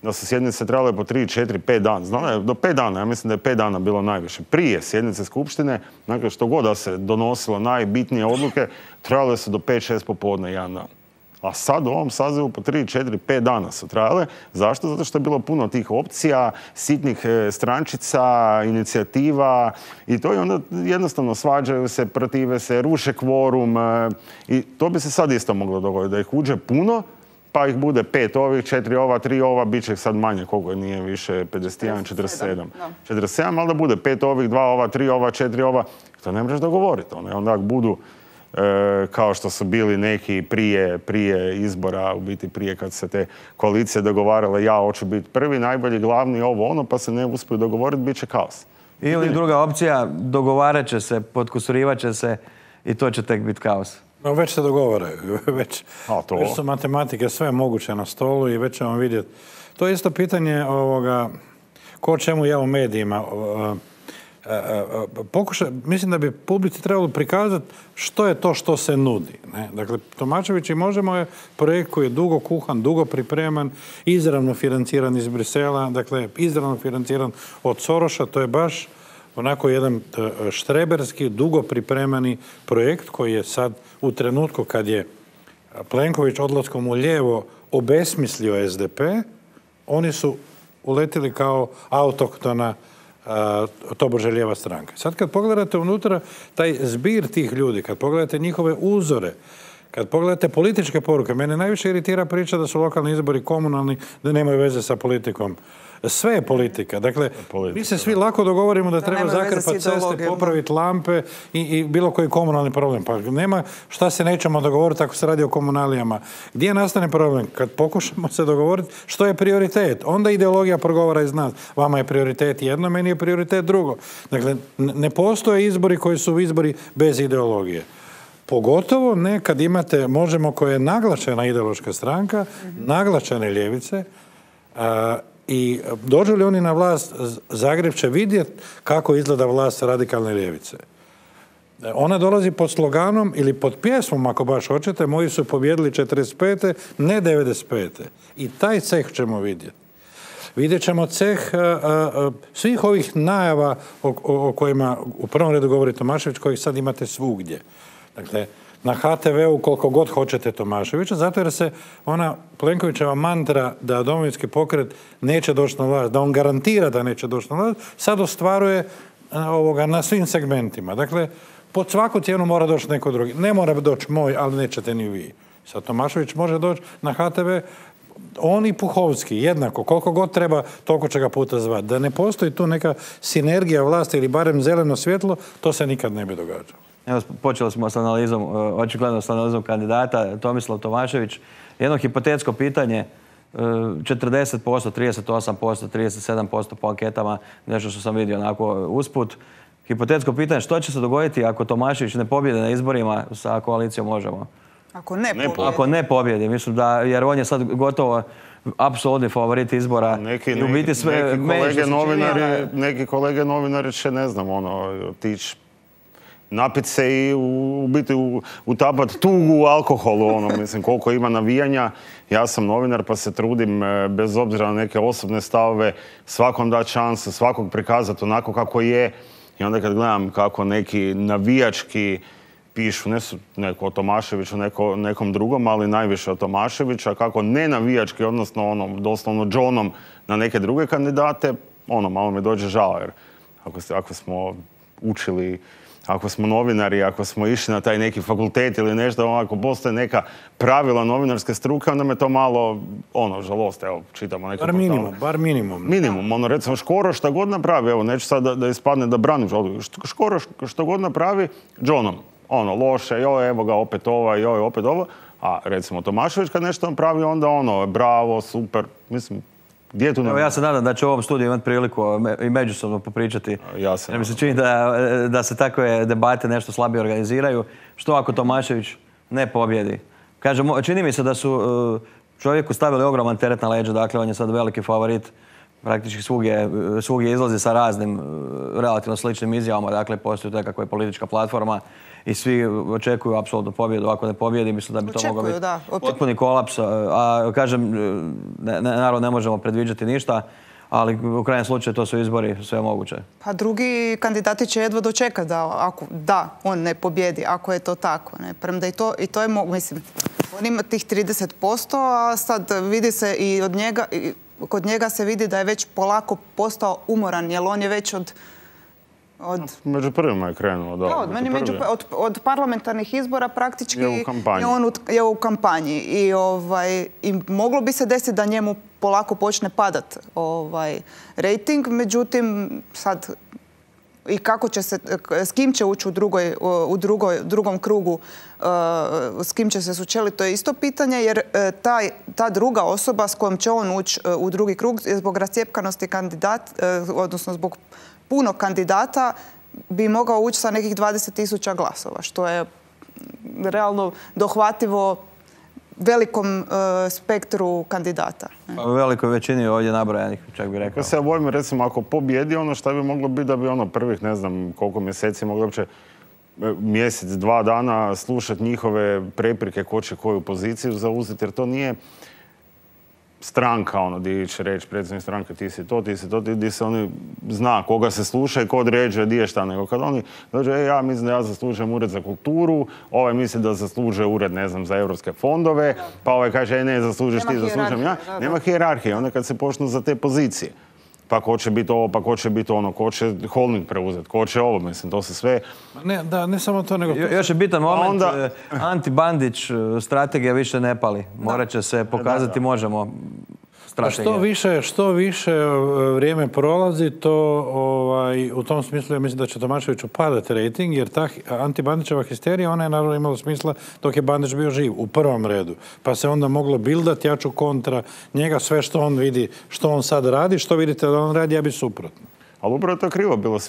da su sjednice trebale po 3, 4, 5 dana. Znala je do 5 dana, ja mislim da je 5 dana bilo najviše. Prije sjednice skupštine, dakle što god da se donosilo najbitnije odluke, trebale su do 5, 6 popodne jedan dan. A sad u ovom sazivu po 3, 4, 5 dana su trajale. Zašto? Zato što je bilo puno tih opcija, sitnih strančica, inicijativa i to je onda jednostavno svađaju se, protive se, ruše kvorum i to bi se sad isto moglo dogoditi, da ih uđe puno, pa ih bude 5 ovih, 4 ova, 3 ova, bit će ih sad manje, koliko nije više, 51, 47. 47, ali da bude 5 ovih, 2 ova, 3 ova, 4 ova, to ne možeš dogovoriti. Onda budu kao što su bili neki prije izbora, u biti prije kad se te koalicije dogovarale, ja hoću biti prvi, najbolji, glavni, ovo, pa se ne uspiju dogovoriti, bit će kaos. Ili druga opcija, dogovarat će se, podkusurivat će se i to će tek biti kaos. No, već se dogovaraju, već su matematike sve moguće na stolu i već ćemo vidjeti. To je isto pitanje ko čemu ja u medijima. Mislim da bi publici trebalo prikazati što je to što se nudi. Ne? Dakle, Tomačević i Možemo je projekt koji je dugo kuhan, dugo pripreman, izravno financiran iz Brisela, dakle, izravno financiran od Soroša, to je baš onako jedan štreberski, dugo pripremani projekt koji je sad u trenutku kad je Plenković odlaskom u lijevo obesmislio SDP, oni su uletili kao autoktona tobože lijeva stranka. Sad kad pogledate unutra taj zbir tih ljudi, kad pogledate njihove uzore, Kad pogledate političke poruke, mene najviše iritira priča da su lokalni izbori komunalni, da nemaju veze sa politikom. Sve je politika. Dakle, mi se svi lako dogovorimo da treba zakrpati ceste, popraviti lampe i bilo koji komunalni problem. Pa nema šta se nećemo dogovoriti ako se radi o komunalijama. Gdje nastane problem? Kad pokušamo se dogovoriti što je prioritet. Onda ideologija progovara iz nas. Vama je prioritet jedno, meni je prioritet drugo. Dakle, ne postoje izbori koji su izbori bez ideologije. Pogotovo ne kad imate Možemo koja je naglašena ideološka stranka, naglašene ljevice, i dođu li oni na vlast, Zagreb će vidjeti kako izgleda vlast radikalne ljevice. Ona dolazi pod sloganom ili pod pjesmom, ako baš hoćete, moji su pobjedili 45. ne 95. I taj ceh ćemo vidjeti. Vidjet ćemo ceh svih ovih najava o kojima u prvom redu govori Tomašević, kojih sad imate svugdje. Dakle, na HTV-u koliko god hoćete Tomaševića, zato jer se ona Plenkovićeva mantra da Domovinski pokret neće doći na vlast, da on garantira da neće doći na vlast, sad ostvaruje na svim segmentima. Dakle, pod svaku cijenu mora doći neko drugi. Ne mora doći moj, ali nećete ni vi. Sad Tomašević može doći na HTV, on i Puhovski, jednako, koliko god treba, toliko će ga puta zvati. Da ne postoji tu neka sinergija vlasti ili barem zeleno svjetlo, to se nikad ne bi događalo. Evo, počeli smo s analizom, očigledno s analizom kandidata Tomislav Tomašević. Jedno hipotetsko pitanje, 40%, 38%, 37% po anketama, nešto što sam vidio onako usput. Hipotetsko pitanje, što će se dogoditi ako Tomašević ne pobjede na izborima sa koalicijom Možemo? Ako ne pobjedi, mislim da, jer on je sad gotovo apsolutni favorit izbora. Neki kolege novinari će, ne znam, otići napit se i u biti utapat tugu u alkoholu, mislim, koliko ima navijanja. Ja sam novinar pa se trudim, bez obzira na neke osobne stavove, svakom dati šansu, svakog prikazati onako kako je. I onda kad gledam kako neki navijački pišu, neko o Tomaševiću, nekom drugom, ali najviše o Tomaševiću, a kako ne navijački, odnosno doslovno džonom na neke druge kandidate, malo mi dođe žao, jer ako smo učili, ako smo novinari, ako smo išli na taj neki fakultet ili nešto, ako postoje neka pravila novinarske struke, onda me to malo, žalost, evo, čitamo neke portale. Bar minimum. Minimum, recimo Škoro šta god napravi, evo, neću sad da ispadne da branim, Škoro što god napravi, džonom. Loše, joj, evo ga, opet ovo, a recimo Tomašević kad nešto napravi, onda bravo, super, mislim, gdje je tu Evo, ja se nadam da će u ovom studiju imati priliku i međusobno popričati. Mi se čini da se takve debate nešto slabije organiziraju. Što ako Tomašević ne pobjedi? Kažem, čini mi se da su čovjeku stavili ogroman teret na leđa, dakle on je sad veliki favorit. Praktički svugdje izlazi sa raznim relativno sličnim izjavama, dakle postoji nekakva politička platforma i svi očekuju apsolutnu pobjedu. Ako ne pobjedi, mislim da bi to mogao biti potpuni kolaps. A kažem, naravno ne možemo predviđati ništa, ali u krajnjem slučaju to su izbori, sve je moguće. Pa drugi kandidati će jedva dočekati da on ne pobjedi, ako je to tako. Premda i to je mislim, on ima tih 30%, a sad vidi se i od njega, kod njega se vidi da je već polako postao umoran, jer on je već među prvima je krenuo, da. Od parlamentarnih izbora praktički je u kampanji. I moglo bi se desiti da njemu polako počne padat rejting, međutim sad i kako će se, s kim će ući u drugom krugu, s kim će se sučeliti, to je isto pitanje, jer ta druga osoba s kojom će on ući u drugi krug zbog rascjepkanosti odnosno zbog puno kandidata bi mogao ući sa nekih 20.000 glasova, što je realno dohvativo velikom spektru kandidata. U velikoj većini ovdje nabrojanih, čak bih rekao. Ja se bojim, recimo, ako pobjedi što bi moglo biti da bi prvih, ne znam koliko mjeseci moglo uopće mjesec, 2 dana slušati njihove preprike ko će koju poziciju zauzeti, jer to nije stranka, gdje će reći predsjednik stranke ti si to, gdje se oni zna koga se sluša i ko određuje gdje je šta, nego kad oni dođu, ja mislim da ja zaslužujem ured za kulturu, ovaj misli da zaslužuje ured, ne znam, za europske fondove, pa ovaj kaže, ne, zaslužiš ti, zaslužujem ja. Nema hijerarhije, onda kad se počnu za te pozicije. pa ko će biti ovo, pa ko će biti ono, ko će holding preuzeti, ko će ovo, mislim, to se sve... Ne samo to, nego... Još je bitan moment, anti-Bandić strategija više ne pali. Morat će se pokazati, možemo strategija. Što više vrijeme prolazi, to u tom smislu ja mislim da će Tomaševiću padati rating, jer ta anti-Bandićeva histerija, ona je naravno imala smisla dok je Bandić bio živ, u prvom redu. Pa se onda moglo bildati jaču kontra njega, sve što on vidi, što on sad radi, što vidite da on radi, ja bi suprotno. Ali upravo je to krivo bilo.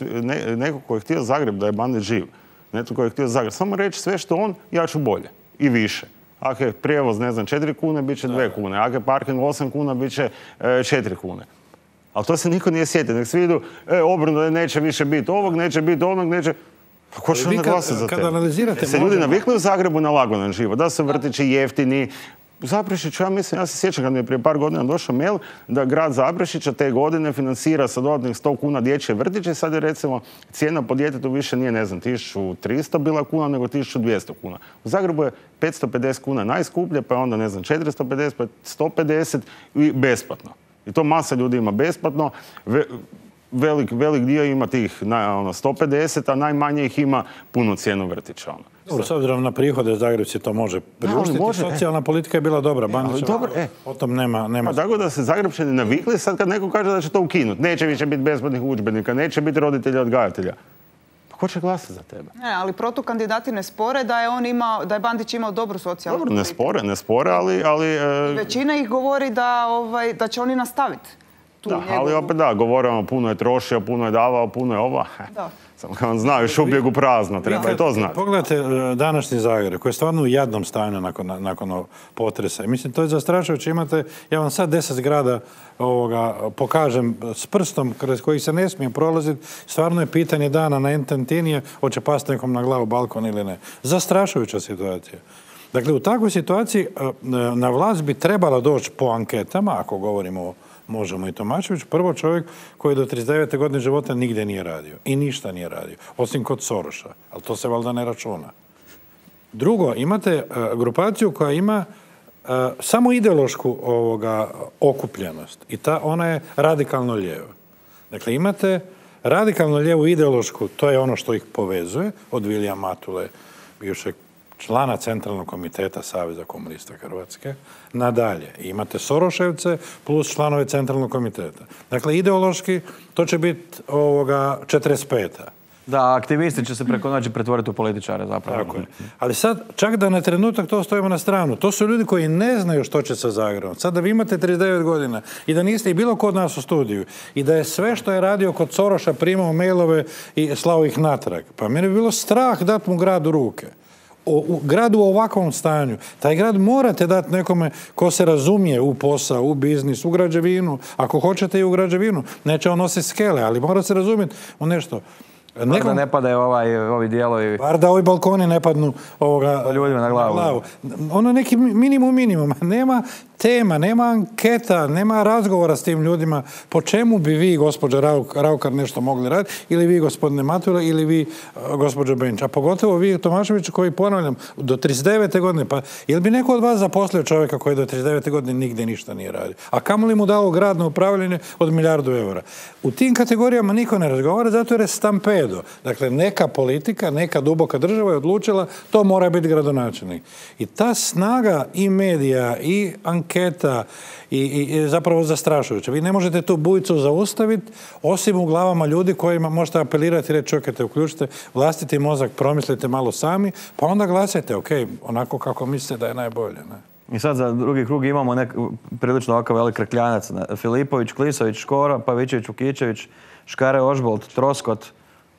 Neko ko je htio Zagreb da je Bandić živ, neko ko je htio Zagreb, samo reći sve što on, ja ću bolje i više. Ako je prijevoz, 4 kune, bit će 2 kune. Ako je parking 8 kuna, bit će 4 kune. Ali to se niko nije sjetio. Nek svi idu, obrnuto, neće više biti ovog, neće biti onog, neće... Pa ko će onda glasati za tebe? Se ljudi navikli u Zagrebu na lagodan život, da su vrtići jeftini. Zaprešić, ja mislim, ja se sjećam kad mi je prije par godina došao mail da grad Zaprešića te godine financira sa dodatnih 100 kuna dječje vrtiće. Sad je recimo cijena po djetetu više nije, 1300 bila kuna, nego 1200 kuna. U Zagrebu je 550 kuna najskuplje, pa je onda, 450, pa 150 i besplatno. I to masa ljudi ima besplatno. Velik dio ima tih 150, a najmanje ih ima punu cijenu vrtića. S obzirom na prihode, Zagrebci to može priuštiti. Socijalna politika je bila dobra. O tom nema. Tako da se Zagrebčani navikli sad kad neko kaže da će to ukinuti. Neće više biti besplatnih udžbenika, neće biti roditelja odgajatelja. Pa ko će glasati za tebe? Ne, ali protukandidati ne spore da je Bandić imao dobru socijalnu politiku. Ne spore, ali... Većina ih govori da će oni nastaviti. Ali opet govorimo, puno je trošio, puno je davao, puno je ova. Samo kad vam znaju šupljeg u prazno, treba i to znati. Pogledajte današnji Zagreb, koji je stvarno u jadnom stanju nakon potresa. Mislim, to je zastrašujuće. Imate, ja vam sad 10 zgrada pokažem s prstom kroz kojih se ne smije prolaziti. Stvarno je pitanje dana na ententinije, hoće pasti nekom na glavu balkon ili ne. Zastrašujuća situacija. Dakle, u takvoj situaciji na vlast bi trebala doći po anketama, ako govorimo o Možemo i Tomašević, prvo čovjek koji do 39. godine života nigdje nije radio i ništa nije radio, osim kod Soroša, ali to se valjda ne računa. Drugo, imate grupaciju koja ima samo ideološku okupljenost i ona je radikalno lijeva. Dakle, imate radikalno lijevu ideološku, to je ono što ih povezuje, od Vilija Matule, bivšeg člana Centralnog komiteta Saveza komunista Hrvatske, nadalje. Imate Soroševce plus članove Centralnog komiteta. Dakle, ideološki to će biti 45. Da, aktivisti će se preko noći pretvoriti u političare zapravo. Tako je. Ali sad, čak da na trenutak to stojimo na stranu, to su ljudi koji ne znaju što će sa Zagrebom. Sad da vi imate 39 godina i da niste i bilo kod nas u studiju i da je sve što je radio kod Soroša primao mailove i slao ih natrag. Pa meni bi bilo strah dati mu grad u ruke. U gradu u ovakvom stanju. Taj grad morate dati nekome ko se razumije u posao, u biznis, u građevinu. Ako hoćete i u građevinu. Neće on nositi skele, ali mora se razumjeti u nešto. Bar da ne padaju ovi dijelovi. Bar da ovi balkoni ne padnu ljudima na glavu. Ono neki minimum. Nema tema, nema anketa, nema razgovora s tim ljudima. Po čemu bi vi, gospođa Raukar, nešto mogli raditi? Ili vi, gospodine Matula, ili vi, gospođa Benč. A pogotovo vi, Tomašević, koji, ponavljam, do 39. godine. Pa, ili bi neko od vas zaposlio čovjeka koji do 39. godine nigdje ništa nije radio? A kamoli mu dao grad na upravljanje od 1 milijardu eura? U tim kategorijama niko ne razgovara, zato jer je stampedo. Dakle, neka politika, neka duboka država je odlučila, to mora biti gradonačelnik. I ta snaga i medija, i anketa, i zapravo zastrašujuća. Vi ne možete tu bujicu zaustaviti, osim u glavama ljudi kojima možete apelirati i reći, čekajte, uključite vlastiti mozak, promislite malo sami, pa onda glasajte, ok, onako kako mislite da je najbolje. Ne? I sad za drugi krug imamo prilično ovakav velik rekljanac. Filipović, Klisović, Škoro, Pavićević, Vukičević, Škare, Ožbolt, Troskot.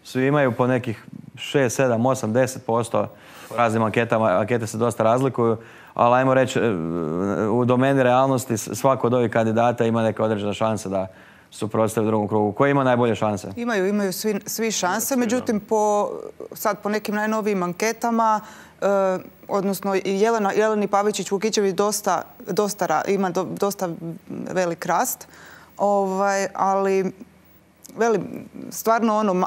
Svi imaju po nekih 6, 7, 8, 10%. U raznim anketama, ankete se dosta razlikuju. Ali ajmo reći, u domeni realnosti svako od ovih kandidata ima neke određene šanse da suprotstavi u drugom krugu. Ko ima najbolje šanse? Imaju svi šanse, međutim sad po nekim najnovijim anketama, odnosno Jeleni Pavičić Vukičević ima dosta velik rast, ali stvarno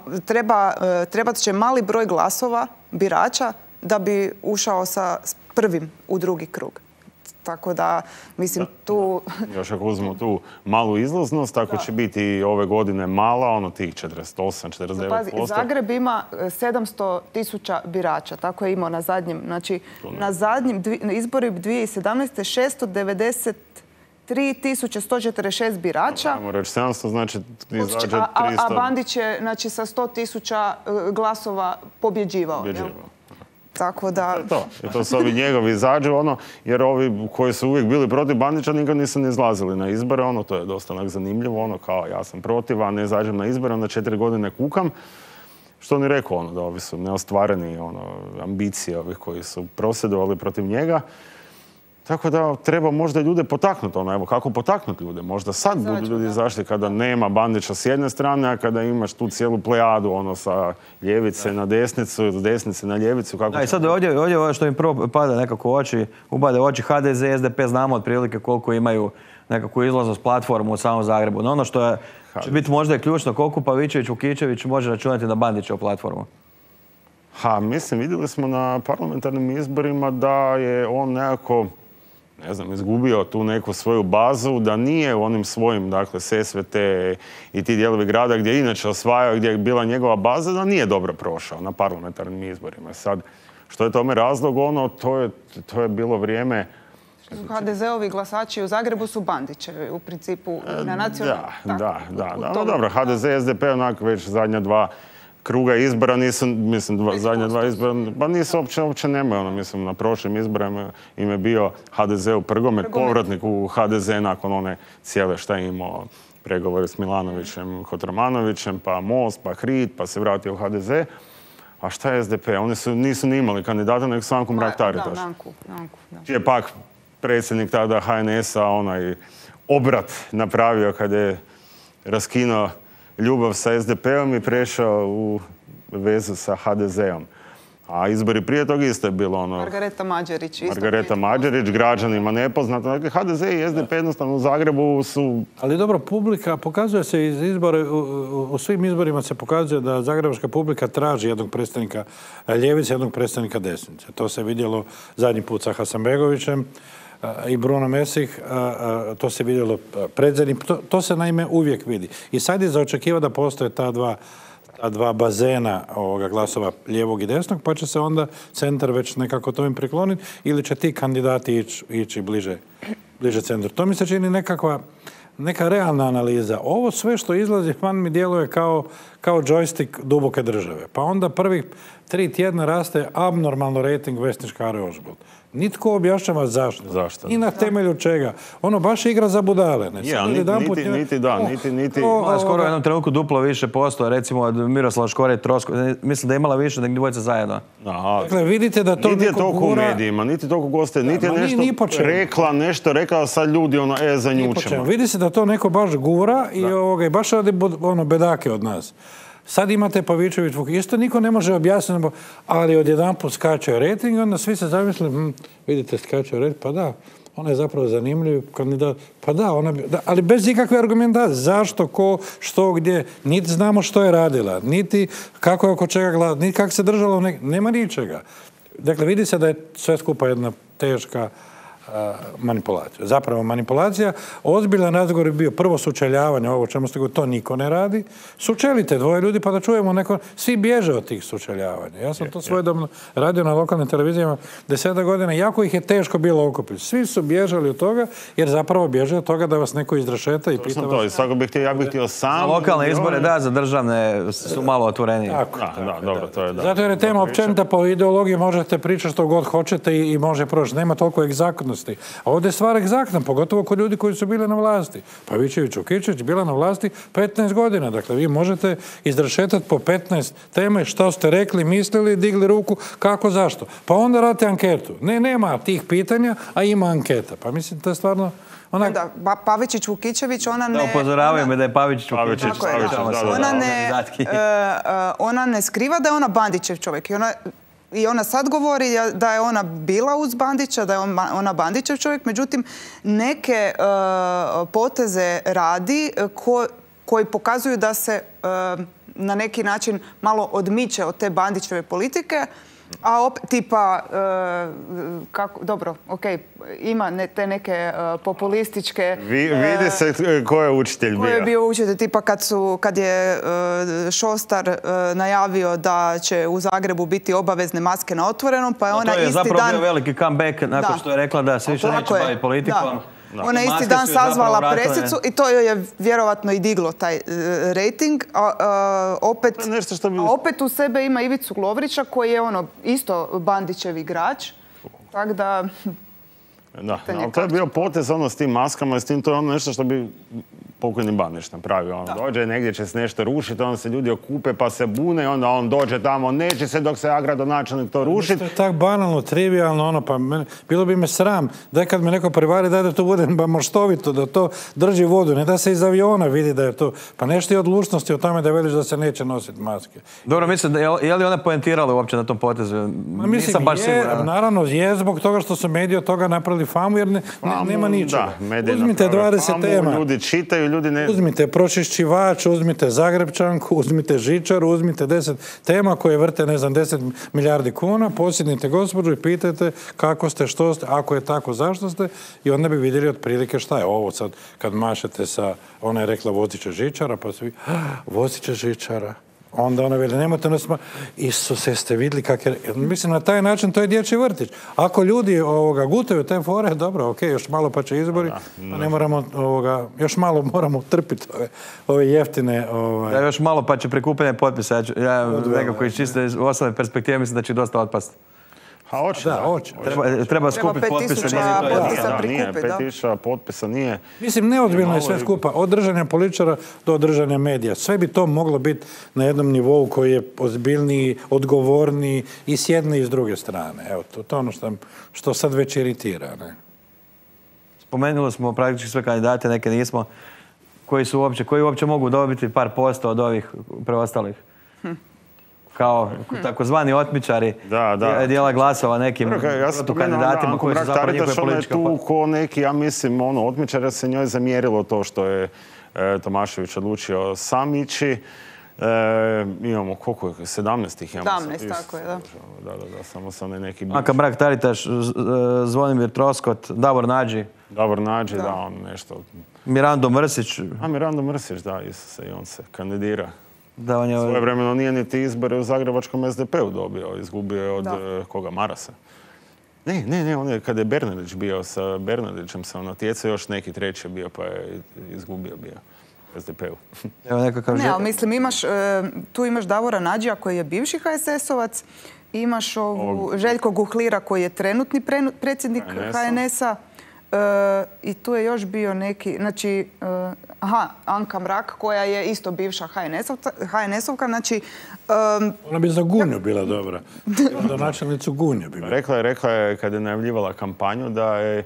trebat će mali broj glasova birača da bi ušao sa prvim u drugi krug. Tako da, mislim, tu... Još ako uzmemo tu malu izlaznost, ako će biti ove godine mala, tih 48-49%. Pazi, Zagreb ima 700.000 birača, tako je imao na zadnjem. Znači, na zadnjim izbori 2017. 693.146 birača. Ajmo reći 700, znači izađe 300. A Bandić je sa 100.000 glasova pobjeđivao. Tako da... To su ovi njegovi izađu, jer ovi koji su uvijek bili protiv Bandića nikad nisu ne izlazili na izbore, to je dosta zanimljivo, kao ja sam protiv, a ne izađem na izbore, onda 4 godine kukam. Što on je rekao, da ovi su neostvareni ambicije ovih koji su prosvjedovali protiv njega. Tako da treba možda ljude potaknuti, evo kako potaknuti ljude. Možda sad budu ljudi izašli kada nema Bandića s jedne strane, a kada imaš tu cijelu plejadu, sa ljevice na desnicu, s desnice na ljevicu. I sad ovdje što mi prvo pada nekako u oči, ubade u oči HDZ i SDP, znamo otprilike koliko imaju nekakvu izlaznost platformu u samom Zagrebu. No ono što će biti možda ključno, koliko Pavićević, Vukičević može računati na Bandićevu platformu? Mislim, vidjeli smo na parlamentarnim izborima da je on nekako izgubio tu neku svoju bazu, da nije u onim svojim, dakle, SSVT i ti dijelovi grada gdje je inače osvajao, gdje je bila njegova baza, da nije dobro prošao na parlamentarnim izborima. Sad, što je tome razlog, to je bilo vrijeme... HDZ-ovi glasači u Zagrebu su Bandićevi, u principu, na nacionalnom... Da. Dobro, HDZ i SDP onako već zadnja dva kruga izbora zadnja dva izbora, pa nisu uopće nemaju, na prošlim izborima im je bio HDZ u Prgomet, povratnik u HDZ nakon one cijele šta je imao pregovore s Milanovićem, Kotromanovićem, pa Most, pa HRID, pa se vratio u HDZ. A šta je SDP? Oni nisu ni imali kandidata, nego Anku Mrak-Taritaš. Čiji je pak predsjednik tada HNS-a onaj obrat napravio kada je raskinuo ljubav sa SDP-om i prešao u vezu sa HDZ-om. A izbori prije toga isto je bilo Margareta Mađerić, građanima nepoznata. Dakle, HDZ i SDP jednostavno u Zagrebu su... Ali dobro, publika, pokazuje se iz izbora, u svim izborima se pokazuje da zagrebačka publika traži jednog predstavnika ljevice, jednog predstavnika desnice. To se vidjelo zadnji put sa Hasanbegovićem i Bruno Mesih, to se vidjelo predzadnji, to se naime uvijek vidi. I sad je za očekivati da postoje ta dva bazena glasova lijevog i desnog, pa će se onda centar već nekako tome prikloniti ili će ti kandidati ići bliže centru. To mi se čini neka realna analiza. Ovo sve što izlazi van mi djeluje kao džojstik duboke države. Pa onda prvih 3 tjedna raste abnormalno rejting Vesne Škare-Ožbolt. Nitko objašnjava zašto. I na temelju čega. Baš igra za budale. Niti. Skoro u jednom trenutku duplo više posto, recimo od Miroslava Škore i Trosko. Mislim da je imala više nego dvojica zajedno. Dakle, vidite da to niti je toliko u medijima, niti toliko goste, niti je nešto rekla, sad ljudi zanjučemo. Vidi se da to neko baš gura i baš radi bedake od nas. Sad imate Pavićević, isto niko ne može objasniti, ali odjedanput skače rejting, onda svi se zamisli, vidite, skače rejting, pa da, ona je zapravo zanimljiv kandidat, pa da, ali bez ikakve argumentacije, zašto, ko, što, gdje, niti znamo što je radila, niti kako je oko čega gledala, niti kako se držalo, nema ničega. Dakle, vidi se da je sve skupa jedna teška manipulacija. Zapravo manipulacija. Ozbiljan razgovor je bio prvo sučeljavanje, ovo čemu ste govorili, to niko ne radi. Sučelite dvoje ljudi pa da čujemo neko... Svi bježe od tih sučeljavanja. Ja sam to svojedobno radio na lokalnim televizijama 10 godina. Jako ih je teško bilo okupiti. Svi su bježali od toga jer zapravo bježe od toga da vas neko izrašeta i pita vas... Ja bih htio sam... Lokalne izbore, da, za državne su malo otvorenije. Dobro, to je da. Zato jer je tema općenita po ideologiji, možete pričati što god hoćete i može proći. Nema toliko egzaktnosti. A ovdje je stvar egzaktna, pogotovo kod ljudi koji su bili na vlasti. Pavićević, Vukičević bila na vlasti 15 godina. Dakle, vi možete izrašetati po 15 teme što ste rekli, mislili, digli ruku, kako, zašto. Pa onda radite anketu. Nema tih pitanja, a ima anketa. Pa mislim, to je stvarno... Pavičić, Vukičević, ona ne... Da, upozoravaju me da je Pavičić, Vukičević. Ona ne skriva da je ona Bandićev čovjek. I ona sad govori da je ona bila uz Bandića, da je ona Bandićev čovjek, međutim neke poteze radi koji pokazuju da se na neki način malo odmiče od te Bandićeve politike, A tipa, dobro, ima te neke populističke... Vidi se ko je učitelj bio. Ko je bio učitelj, tipa kad je Šostar najavio da će u Zagrebu biti obavezne maske na otvorenom, pa je ona isti dan... To je zapravo bio veliki comeback nakon što je rekla da se više neće baviti politikom. Ona je isti dan sazvala presicu i to joj je vjerovatno i diglo taj rating. Opet u sebe ima Ivicu Lovrića koji je isto Bandićev igrač. Tako da... Da, ali to je bio potez s tim maskama i s tim, to je nešto što bi pokojni Bandić napravio. Dođe, negdje će se nešto rušiti, onda se ljudi okupe pa se bune i onda on dođe tamo, neće se dok se gradonačelnik to rušiti. To je tako banalno, trivialno, pa bilo bi me sram da kad me neko prevari da to bude maštovito, da to drži vodu, ne da se iz aviona vidi da je to, pa nešto je odlučnosti o tome da veliš da se neće nositi maske. Dobro, mislim, je li ona poentirala uopće na tom potezu? Nisam baš siguran. Naravno, je zbog toga što su mediji od toga napravili famu, jer nema ničega. Uzmite 20 tema. Ljudi čitaju, ljudi ne... Uzmite pročišćivač, uzmite Zagrebčanku, uzmite žičaru, uzmite 10 tema koje vrte, 10 milijardi kuna, posjednite gospođu i pitajte kako ste, što ste, ako je tako, zašto ste, i onda bi vidjeli otprilike šta je ovo sad kad mašete sa, ona je rekla vozit će žičara, pa svi, vozit će žičara. Onda ona veli, nemojte nas... Isuse, ste vidjeli kak je... Mislim, na taj način to je dječji vrtić. Ako ljudi gutaju te fore, dobro, još malo pa će izbori, pa ne moramo, još malo moramo trpiti ove jeftine... Ja, još malo pa će prikupljanje potpisa. Ja nekako iz čiste osobne perspektive mislim da će dosta otpasti. Treba skupiti potpise. 5.000 potpisa nije. Mislim, neozbiljno je sve skupa. Od držanja političara do držanja medija. Sve bi to moglo biti na jednom nivou koji je ozbiljniji, odgovorniji i s jedne i s druge strane. Evo, to je ono što sad već iritira. Spomenuli smo praktički sve kandidate, neke nismo. Koji uopće mogu dobiti par posto od ovih preostalih? Kao takozvani otmičari dijela glasova nekim protukandidatima koji su zapravo njihove političke... Ona je tu ko neki, ja mislim, otmičara se njoj zamjerilo to što je Tomašević odlučio sam ići. Imamo, koliko je? 17 ih imamo. 17, tako je, da. Da, samo sam neki... Aka Mrak-Taritaš, Zvonimir Troskot, Davor Nađi. Davor Nađi, da, on nešto... Mirando Mrsić. Mirando Mrsić, da, i on se kandidira. Svojevremeno nije niti izbore u zagrebačkom SDP-u dobio, izgubio je od koga, Marasa. Ne, on je, kad je Bernardić bio, sa Bernardićem se on natjecao, još neki treći bio, pa je izgubio bio SDP-u. Ne, ali mislim, tu imaš Davora Nađija koji je bivši HSS-ovac, imaš Željko Guhlira koji je trenutni predsjednik HNS-a, i tu je još bio neki, znači, Anka Mrak koja je isto bivša HNS-ovka, znači... Ona bi za Gunju bila dobra. Za načelnicu Gunju bi bila. Rekla je kad je najavljivala kampanju da je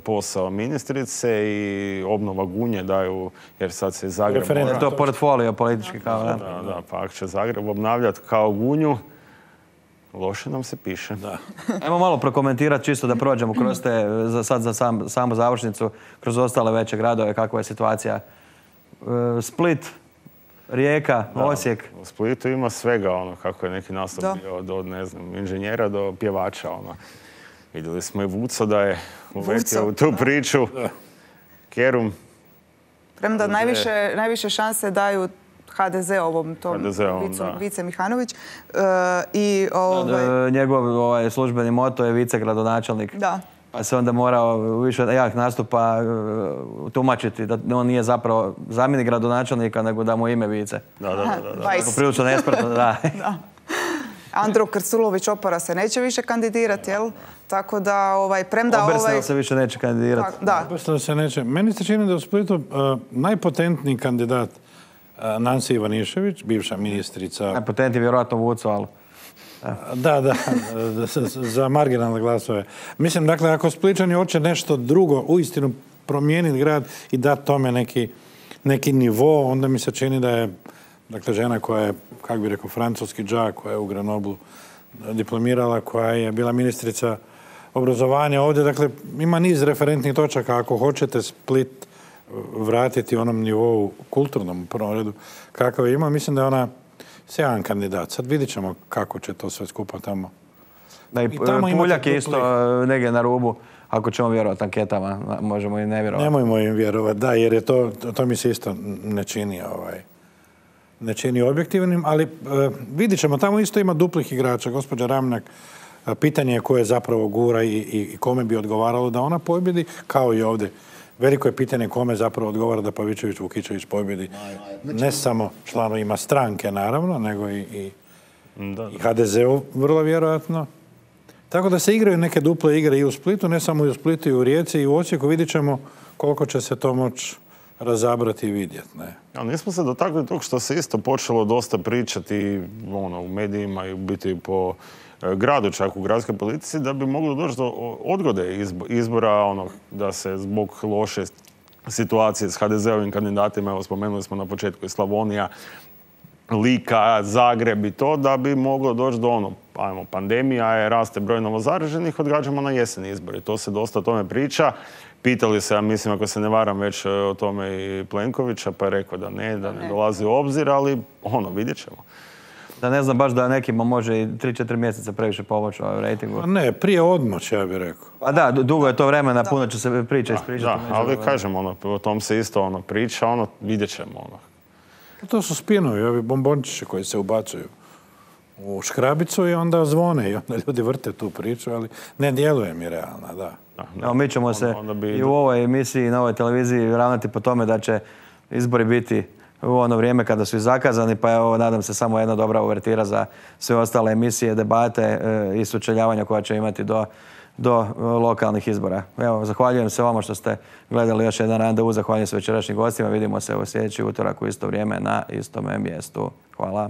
posao ministrice i obnova Gunje daju, jer sad se Zagreb... To je portfolio politički kao... Da, pa ako će Zagreb obnavljati kao Gunju, loše nam se piše. Ajmo malo prokomentirati čisto da prođemo kroz te, sad za samu završnicu, kroz ostale veće gradove, kakva je situacija. Split, Rijeka, Osijek. U Splitu ima svega, kako je neki nastup bio od, ne znam, inženjera do pjevača. Vidjeli smo i Vuco da je uvetio u tu priču. Kerum. Premda najviše šanse daju HDZ-ovom, tom Vice Mihanović. Njegov službeni moto je vicegradonačelnik. Da. Pa se onda morao više jak nastupa tumačiti da on nije zapravo zamjenik gradonačelnika, nego da mu ime vice. Da. Prilično nespretno, da. Andro Krstulović Opara se neće više kandidirati, jel? Tako da, premda... Obersnel se više neće kandidirati. Da. Obersnel se neće. Meni se čini da u Splitu najpotentniji kandidat Nansi Ivanišević, bivša ministrica... Najpotentniji je vjerojatno Vuco, ali... Da, za marginalne glasove. Mislim, dakle, ako Spličani hoće nešto drugo, uistinu promijeniti grad i dati tome neki nivo, onda mi se čini da je, dakle, žena koja je, kako bi rekao, francuski džak, koja je u Grenoblu diplomirala, koja je bila ministrica obrazovanja ovdje, dakle, ima niz referentnih točaka. Ako hoćete Split vratiti onom nivou kulturnom u prvom redu kakav ima, mislim da je ona Sjajan kandidat. Sad vidit ćemo kako će to sve skupa tamo. Da, i Puljak je isto negdje na rubu. Ako ćemo vjerovati anketama, možemo i ne vjerovati. Nemojmo im vjerovati, da, jer je to mi se isto ne čini objektivnim, ali vidit ćemo, tamo isto ima duplih igrača. Gospođa Ramljak, pitanje je koje zapravo gura i kome bi odgovaralo da ona pobjedi, kao i ovdje. Veliko je pitanje kome zapravo odgovara da Pavičević-Vukičević pobjedi. Ne samo članovima stranke, naravno, nego i HDZ-u vrlo vjerojatno. Tako da se igraju neke duple igre i u Splitu, ne samo i u Splitu, i u Rijeci, i u Osijeku. Vidit ćemo koliko će se to moći razabrati i vidjeti. Ali nismo se dotakli tog što se isto počelo dosta pričati u medijima i biti po gradu, čak u gradskoj politici, da bi moglo doći do odgode izbora, da se zbog loše situacije s HDZ-ovim kandidatima, evo spomenuli smo na početku i Slavonija, Lika, Zagreb i to, da bi moglo doći do pandemija je, raste broj novozaraženih, odgađamo na jesen izbori. To se dosta o tome priča. Pitali se, ja mislim, ako se ne varam, već o tome i Plenkovića, pa je rekao da ne dolazi u obzir, ali vidjet ćemo. Da ne znam baš da nekima može i 3-4 mjeseca previše pomoći u rejtingu. Ne, prije odmoć, ja bih rekao. Pa da, dugo je to vremena, puno će se priča ispričati. Da, ali kažem, o tom se isto priča, vidjet ćemo. To su spinovi, ovi bombončići koji se ubacuju u škrabicu i onda zvone i onda ljudi vrte tu priču, ali ne djeluje mi realna, da. Evo, mi ćemo se i u ovoj emisiji i na ovoj televiziji ravnati po tome da će izbori biti u ono vrijeme kada su i zakazani, pa evo, nadam se samo jedna dobra uvertira za sve ostale emisije, debate i sučeljavanja koja će imati do lokalnih izbora. Evo, zahvaljujem se vama što ste gledali još jedan randevu, zahvaljujem se večerašnjim gostima, vidimo se u sljedeći utorak u isto vrijeme na istome mjestu. Hvala.